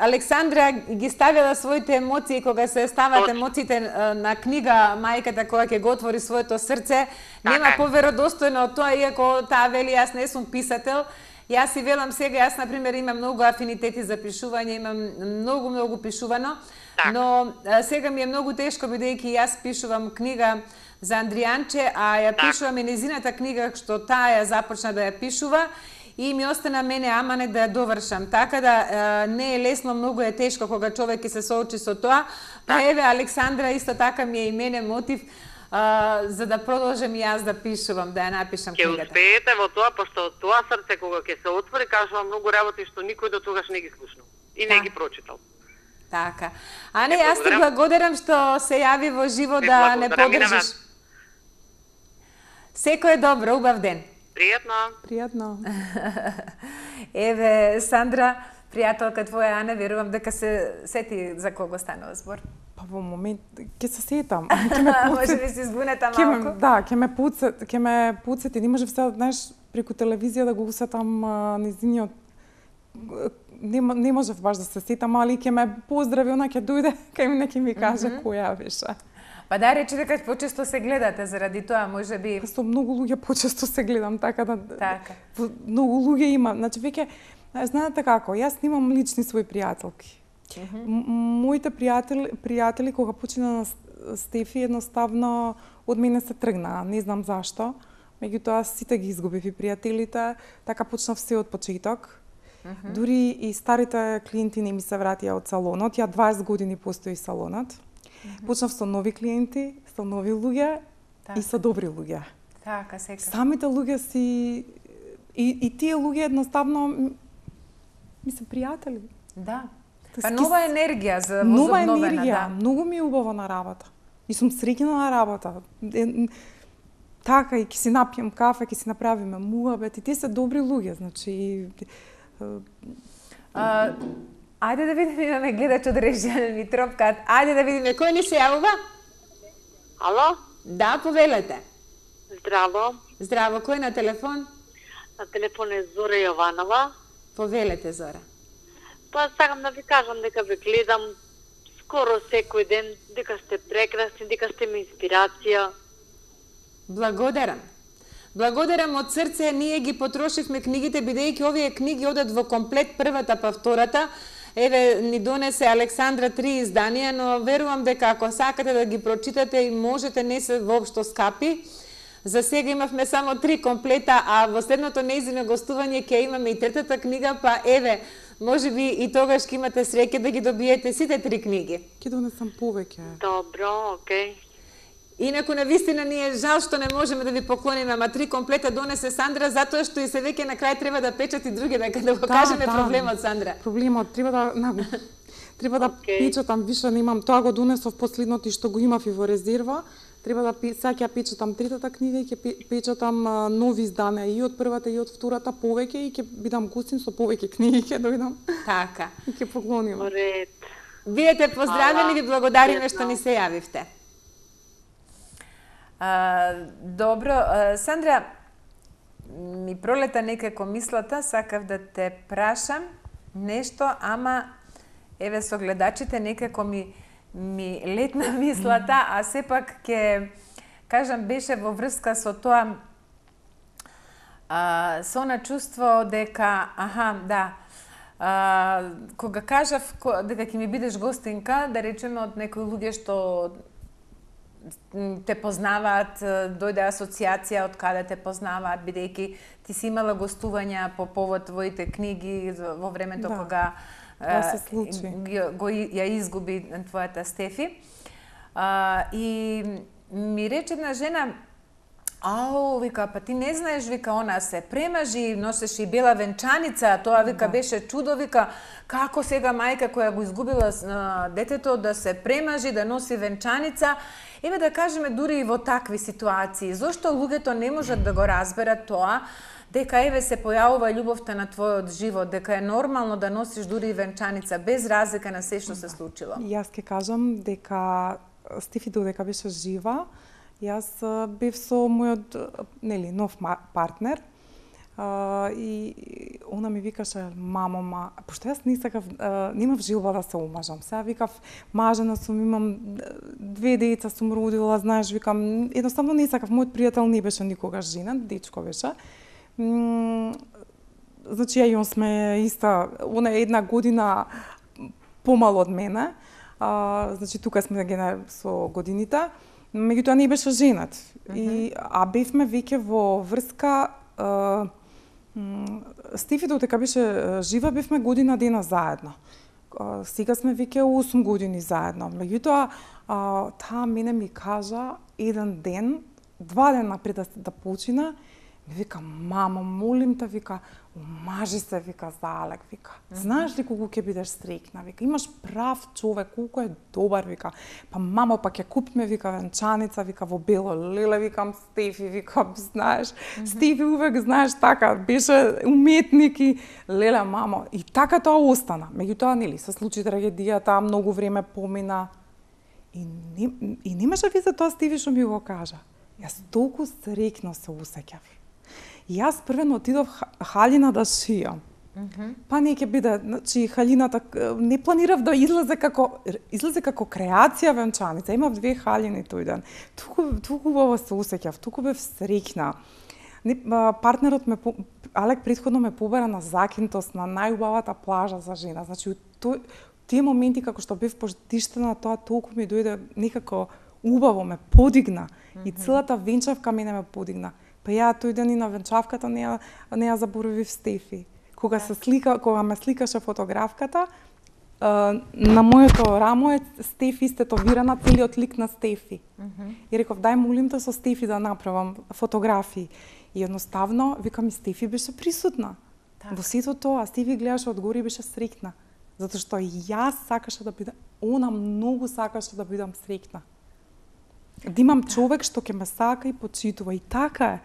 Александра ги ставила своите емоции кога се стават емоциите на книга мајката која ќе го отвори своето срце. Нема поверодостојно од тоа, иако таа вели јас не сум писател. Јас си велам сега, јас на пример имам многу афинитети за пишување, имам многу пишувано, но сега ми е многу тешко бидејќи јас пишувам книга за Андријанче, а ја пишувам и незината книга што таа ја започна да ја пишува и ми остана мене аманет да ја довршам. Така да не е лесно, многу е тешко кога човек ќе се соочи со тоа. Па еве Александра исто така ми е и мене мотив за да продолжам и јас да пишувам, да ја напишам книгата. Ќе успеете во тоа, пошто тоа срце кога ќе се отвори, кажувам многу работи што никој до тогаш не ги слушнал и не ги прочитал. Така. Ане, јас ти благодарам што се јави во живо да не подржиш. Секој е добро, убав ден. Пријатно. Еве, Сандра, пријателка твоја Ана, верувам дека се сети за кого станува збор. Па во момент ќе се сетам. Може би се збунета малку. Да, ќе ме подсети. Не можев сега, знаеш, преку телевизија да го усетам незиниот. Не можев баш да се сетам, али ќе ме поздрави, она ќе дојде, ќе ми каже која беше. Па да речи дека почесто се гледате заради тоа, може би. Со многу луѓе почесто се гледам, така да. Така. Многу луѓе има. Значи веќе знаете како, јас немам лични свои пријателки. Моите пријатели кога почина на Стефи едноставно од мене се тргнаа, не знам зашто. Меѓутоа сите ги изгубив и пријателите, така почнав се од почеток. Дури и старите клиенти не ми се вратија од салонот, ја 20 години постои салонот. Почнав со нови клиенти, со нови луѓе и со добри луѓе. Така, секако. Самите луѓе си и тие луѓе едноставно ми се пријатели. Да. Па нова енергија за Нова возобновена, енергија, многу ми е убаво на работа. И сум среќна на работа. Така, и ќе си напијам кафе, ќе си направиме муабет, и тие се добри луѓе, значи... Ајде да видиме, имаме гледач од режија ми тропкат. Ајде да видиме, кој ни се јавува? Ало? Да, повелете. Здраво. Здраво, кој на телефон? На телефон е Зора Јованова. Повелете, Зора. Па сакам да ви кажам дека ве гледам скоро секој ден, дека сте прекрасни, дека сте ми инспирација. Благодарам. Благодарам од срце, ние ги потрошивме книгите, бидејќи овие книги одат во комплет, првата па втората. Еве, ни донесе Александра 3 изданија, но верувам дека ако сакате да ги прочитате и можете, не се воопшто скапи. За сега имавме само 3 комплета, а во следното нејзино гостување ќе имаме и третата книга, па еве, може би и тогаш ќе имате среќа да ги добиете сите 3 книги. Ќе донесам повеќе. Добро, окей. Инаку на вистина ни е жал што не можеме да ви поклониме, ама 3 комплета донесе Сандра, затоа што и се веќе на крај треба да печати други, дека да го кажеме проблемот, Сандра. Проблемот треба да печатам, више немам, тоа го донесов последното и што го имав и во резерва. Треба да сега ќе печатам третата книга и ќе печатам нови изданија и од првата и од втората повеќе и ќе бидам гостин со повеќе книги, ќе дојдам. Така. И ќе поклоним. Ред. Вие поздравени, ви благодариме што ни се јавивте. Добро, Сандра, ми пролета некако мислата, сакав да те прашам нешто, ама еве со гледачите некако ми летна мислата, а сепак ќе кажам беше во врска со тоа со на чувство дека кога кажав дека ќе ми бидеш гостинка, да речеме од некои луѓе што те познаваат, дојде асоциација од каде те познаваат, бидејќи ти си имала гостувања по повод твоите книги во времето кога ја изгуби твојата Стефи. И ми рече една жена, вика, па ти не знаеш, вика, она се премажи, носеше и бела венчаница, тоа, вика, беше чудо, вика, како сега мајка која го изгубила детето да се премажи, да носи венчаница. Еве да кажеме дури и во такви ситуации, зошто луѓето не можат да го разберат тоа, дека еве се појавува љубовта на твојот живот, дека е нормално да носиш дури и венчаница, без разлика на се што се случило. Јас ќе кажам дека Стефи додека беше жива, јас бев со мојот нов партнер и она ми викаше, мамо, пошто јас немав желба да се омажам. Сега викав, мажена сум, имам 2 деца сум родила, знаеш, викам, едноставно не сакав, мојот пријател не беше никогаш женат, дечко беше. Значи, ја и он сме иста, она е 1 година помало од мене, значи тука сме со годините, меѓутоа не беше женат. А бевме веќе во врска, Стефи додека беше жива, бевме година дена заедно. Сега сме веќе 8 години заедно. Меѓутоа, таа мене ми кажа еден ден, 2 дена пред да почина, ми вика, мамо, молим те, вика, омажи се, вика, за Алек, вика. Знаеш ли колку ќе бидеш среќна, вика, имаш прав човек, колку е добар, вика. Па мамо, па ќе купиме, вика, венчаница, вика, во бело леле, викам, Стефи, вика, знаеш, Стефи увек, знаеш, така, беше уметник и леле, мамо, и така тоа остана. Меѓутоа, нели, се случи трагедијата, многу време помина и немаше везе тоа Стефи што ми го кажа. Јас толку среќно се усеќав. Јас првено отидов халина да шијам. Па не ќе биде, значи халината не планирав да излезе како креација венчаница. Имав 2 халини тој ден. Туку убаво се усеќав, туку бев среќна. Партнерот ме Алек претходно ме побара на Закинтос, на најубавата плажа за жена. Значи тие моменти како што бев потиштена, тоа толку ми дојде некако убаво, ме подигна. И целата венчавка мене ме подигна. Па ја тој ден и на венчавката не ја заборавив Стефи. Кога ме сликаше фотографката, на моето рамо е Стефи истетовирана, целиот лик на Стефи. И реков, дај молим те со Стефи да направам фотографии. И едноставно, викам, и Стефи беше присутна. Во сето тоа, Стефи гледаше одгоре и беше среќна. Затоа што јас сакаше да бидам, она многу сакаше да бидам среќна. Да имам човек што ќе ме сака и почитува, и така е.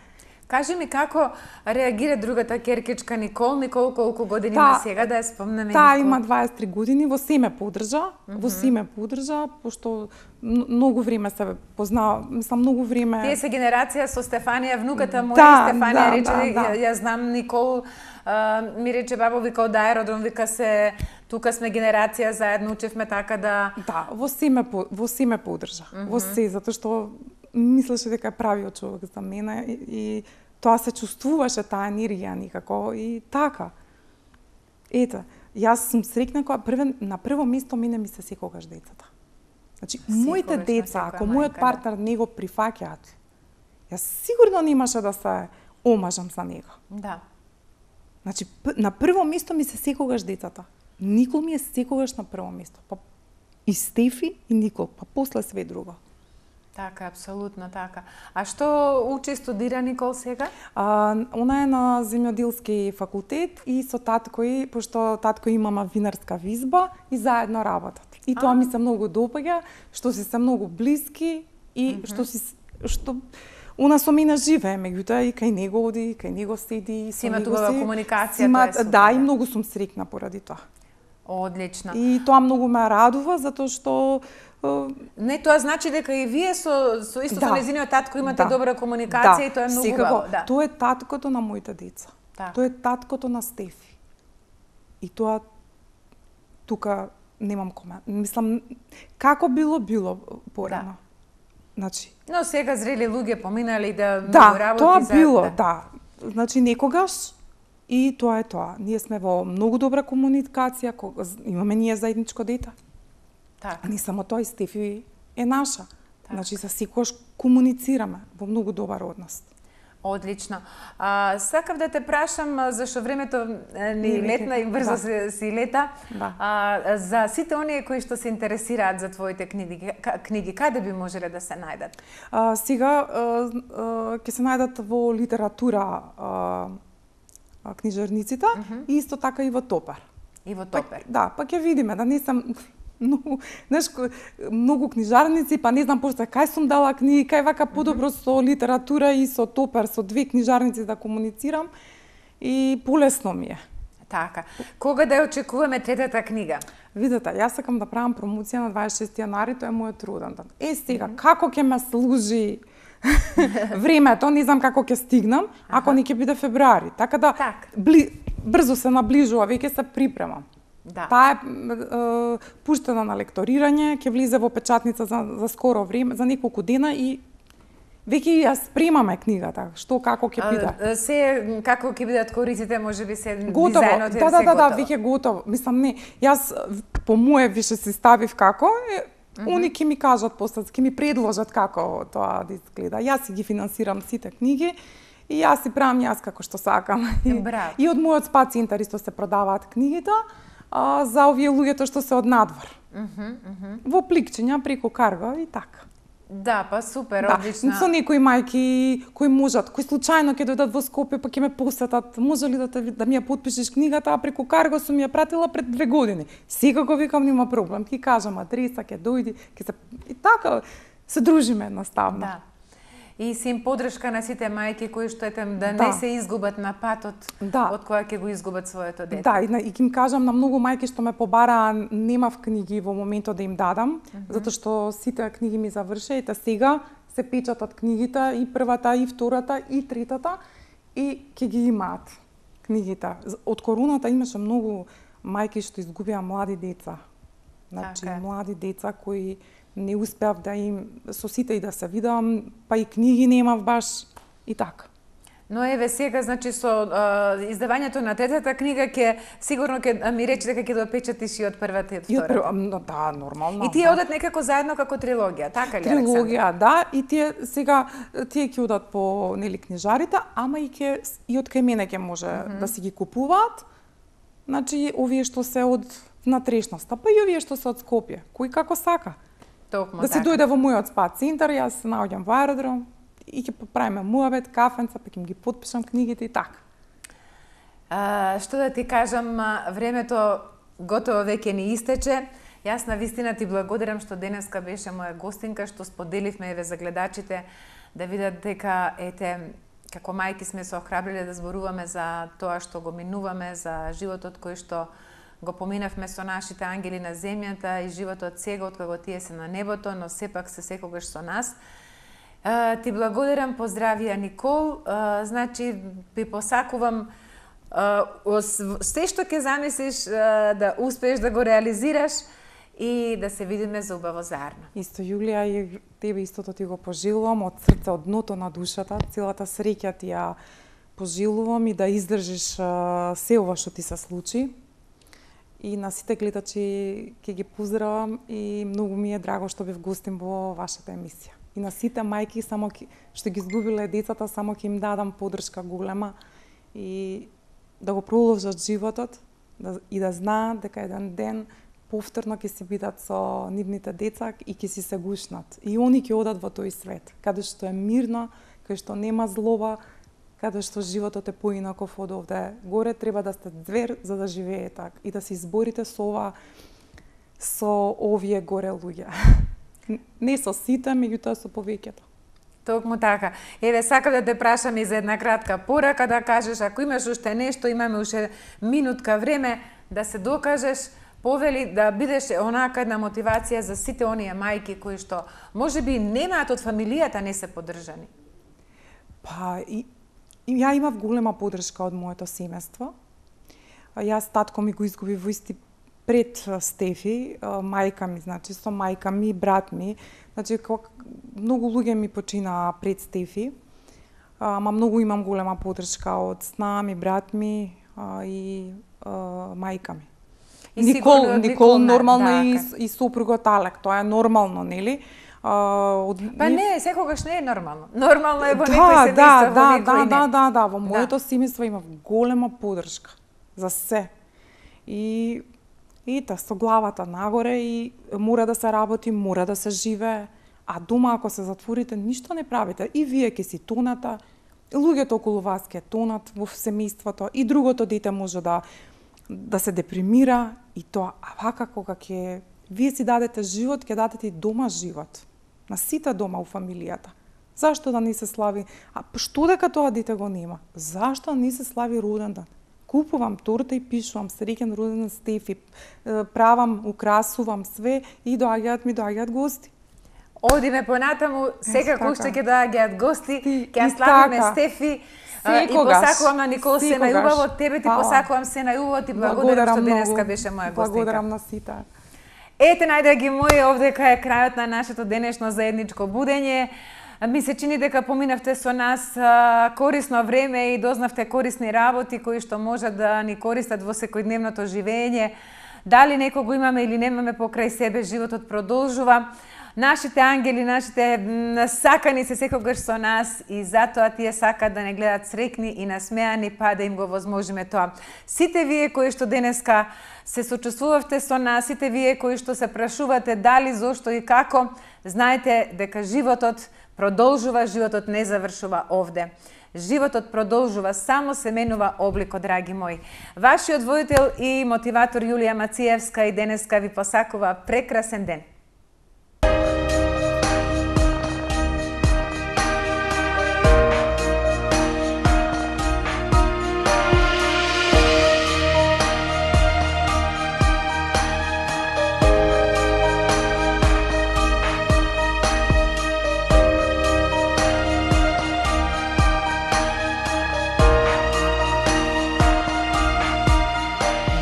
Кажи ми како реагира другата ќеркичка Никол. Никол колку години има сега, да ја спомнеме? Таа има 23 години, во се ме поддржа, пошто многу време се познава, мислам многу време. Тие се генерација со Стефанија, внуката моја Стефанија рече, ја знам Никол, ми рече бабо, вика од аеродром, вика се тука сме генерација заедно, учевме така да. Да, во се ме поддржа. Во се, затоа што мислеше дека е правиот човек за мене и тоа се чувствуваше, таа енергија никако и така. Ето, јас сум среќна кога на прво место мене ми се секогаш децата. Значи, моите деца, ако мојот партнер не го прифаќаат, јас сигурно немаше да се омажам за него. Да. Значи, на прво место ми се секогаш децата. Никол ми е секогаш на прво место. Па и Стефи и Никол, па после све друго. Така, апсолутно така. А што учи, студира Никол сега? Она е на земјоделски факултет и со татко и, пошто татко имама винарска визба и заедно работат. И тоа ми се многу допаѓа, што се многу блиски и што она со мене живее, меѓутоа и кај него оди, кај него седи, си има тугава комуникација, тоа е супер. Да, и многу сум среќна поради тоа. Одлично. И тоа многу ме радува, затоа што не, тоа значи дека и вие со исто со нејзиниот татко имате добра комуникација и тоа е многу убаво. Да. Тоа е таткото на моите деца. Тоа е таткото на Стефи. И тоа тука немам комент. Мислам, како било порано. Значи, но сега зрели луѓе поминали да работи тоа било, да. Значи некогаш и тоа е тоа. Ние сме во многу добра комуникација, имаме ние заедничко дете. Так. А не само тоа, и Стефи е наша. Так. Значи, за секојаш комуницираме во многу добар однос. Одлично. Сакав да те прашам, зашто времето ни летна и брзо си лета, за сите оние кои што се интересираат за твоите книги, каде би можеле да се најдат? Сега ќе се најдат во литература книжарниците и исто така и во Топар. И во Топар. Да, па ќе видиме, да не сам многу книжарници, па не знам пошто кај сум дала книги, кај вака подобро со литература и со Топар, со две книжарници да комуницирам и полесно ми е. Така. Кога да ја очекуваме третата книга? Видете, јас сакам да правам промоција на 26 јанари, тоа е мојот роден ден. Сега, како ќе ме служи времето, не знам како ќе стигнам, ако не ќе биде февруари. Така да брзо се наближува, веќе се припремам. Да. Таа е пуштена на лекторирање, ќе влезе во печатница за скоро време, за неколку дена и веќе ја спремаме книгата, што како ќе биде. Се како ќе бидат кориците, можеби се готово. Дизајнот е Да, веќе готово. Мислам не, јас по моје више си ставив како они ќе ми кажат после, ќе ми предложат како тоа да изгледа. Јас си ги финансирам сите книги и јас си правам како што сакам. И од мојот спа центар исто се продаваат книгите за овие луѓето што се од надвор. Во пликчиња преку карго и така. Да, па супер, одлично. Со некои мајки кои можат, кои случајно ќе дојдат во Скопје, па ќе ме посетат, може ли да ми ја потпишеш книгата, а преку карго сум ја пратила пред 2 години. Секако викам нема проблем, ќе кажам адреса, ќе дојди, ќе се и така се дружиме едноставно. Да. И си им подршка на сите мајки кои што не се изгубат на патот од која ќе го изгубат своето дете. Да, и ќе им кажам на многу мајки што ме побараа, немав книги во моментот да им дадам, затоа што сите книги ми завршеа и сега се печатат книгите, и првата, и втората, и третата, и ќе ги имаат книгите. Од короната имаше многу мајки што изгубија млади деца. Значи, млади деца кои не успеав да им со сите и да се видам, па и книги немав баш и така. Но еве сега, значи со издавањето на третата книга ќе сигурно ќе ми рече дека ќе допечатиш и од првата и од втората. Да, нормално. И тие одат некако заедно како трилогија, така ли, Александра? Трилогија, да, и тие сега ќе одат по книжарите, ама и од кај мене ќе може да си ги купуваат. Значи овие што се од внатрешноста, па и овие што се од Скопје, кој како сака. Токму да се дојде во мојот спа центар, јас се наоѓам во аеродром и ќе поправиме муабет, кафенца, па ќе ги потпишам книгите и така. Што да ти кажам, времето готово веќе ни истече. Јас на вистина ти благодарам што денеска беше моја гостинка, што споделивме еве за гледачите да видат дека како мајки сме се охрабриле да зборуваме за тоа што го минуваме, за животот кој што го поминавме со нашите ангели на земјата и животот сега откако тие се на небото, но сепак се секогаш со нас. Ти благодарам, поздравија Никол. Значи, ви посакувам се што ќе замислиш да успееш да го реализираш и да се видиме за убаво заедно. Исто, Јулија, и тебе истото ти го пожелувам од срце, од дното на душата. Целата среќа ти ја пожелувам и да издржиш се ова што ти се случи. И на сите гледачи ќе ги поздравам и многу ми е драго што бев гостин во вашата емисија. И на сите мајки што ги изгубиле децата, само ќе им дадам поддршка голема и да го продолжат животот и да знаат дека еден ден повторно ќе си бидат со нивните деца и ќе си се гушнат. И они ќе одат во тој свет, каде што е мирно, каде што нема злоба, каде што животот е поинаков од овде. Горе треба да сте звер за да живеете и да се изборите со овие горе луѓе. Не со сите, меѓутоа со повеќето. Токму така. Еве, сакам да те прашам и за една кратка порака да кажеш, ако имаш уште нешто, имаме уште минутка време да се докажеш, повели да бидеш онака една мотивација за сите оние мајки кои што можеби немаат од фамилијата, не се поддржани. Па, ја имав голема поддршка од моето семејство. Јас татко ми го изгуби во исти пред Стефи, мајка ми, значи со мајка ми, брат ми, значи многу луѓе ми починаа пред Стефи, ама многу имам голема поддршка од сна ми, брат ми и мајка ми. Никол нормално и сопругот Алек, тоа е нормално, нели? Па не, секогаш не е нормално. Нормално е во некој семејства, во некој не. Да, во моето семејство имав голема поддршка за се. И со главата нагоре и мора да се работи, мора да се живее, а дома ако се затворите, ништо не правите. И вие ќе си тонате, луѓето околу вас ќе тонат во семејството и другото дете може да се депримира и тоа. А вака кога вие си дадете живот, ќе дадете и дома живот. На сите дома у фамилијата. Зашто да не се слави? А што дека тоа дете го нема? Зашто не се слави роден ден? Купувам торта и пишувам среќен роден ден Стефи, правам, украсувам све и доаѓаат гости. Одиме понатаму, секако уште ќе доаѓаат гости, ќе славиме Стефи. И посакувам на Никол се најубаво, тебе ти посакувам се најубаво, ти благодарам што денеска беше моја гостинка. Благодарам на сите. Ете, најдраги мои, овдека е крајот на нашето денешно заедничко будење. Ми се чини дека поминавте со нас корисно време и дознавте корисни работи кои што можат да ни користат во секојдневното живење. Дали некого имаме или немаме покрај себе, животот продолжува. Нашите ангели, нашите сакани се секогаш со нас и затоа тие сакаат да не гледат срекни и насмеани, па да им го возможиме тоа. Сите вие кои што денеска се сочувствувавте со нас, сите вие кои што се прашувате дали, зошто и како, знаете дека животот продолжува, животот не завршува овде. Животот продолжува, само се менува обликот, драги мои. Вашиот водител и мотиватор Јулија Мациевска и денеска ви посакува прекрасен ден.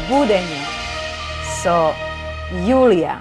Будење со Јулија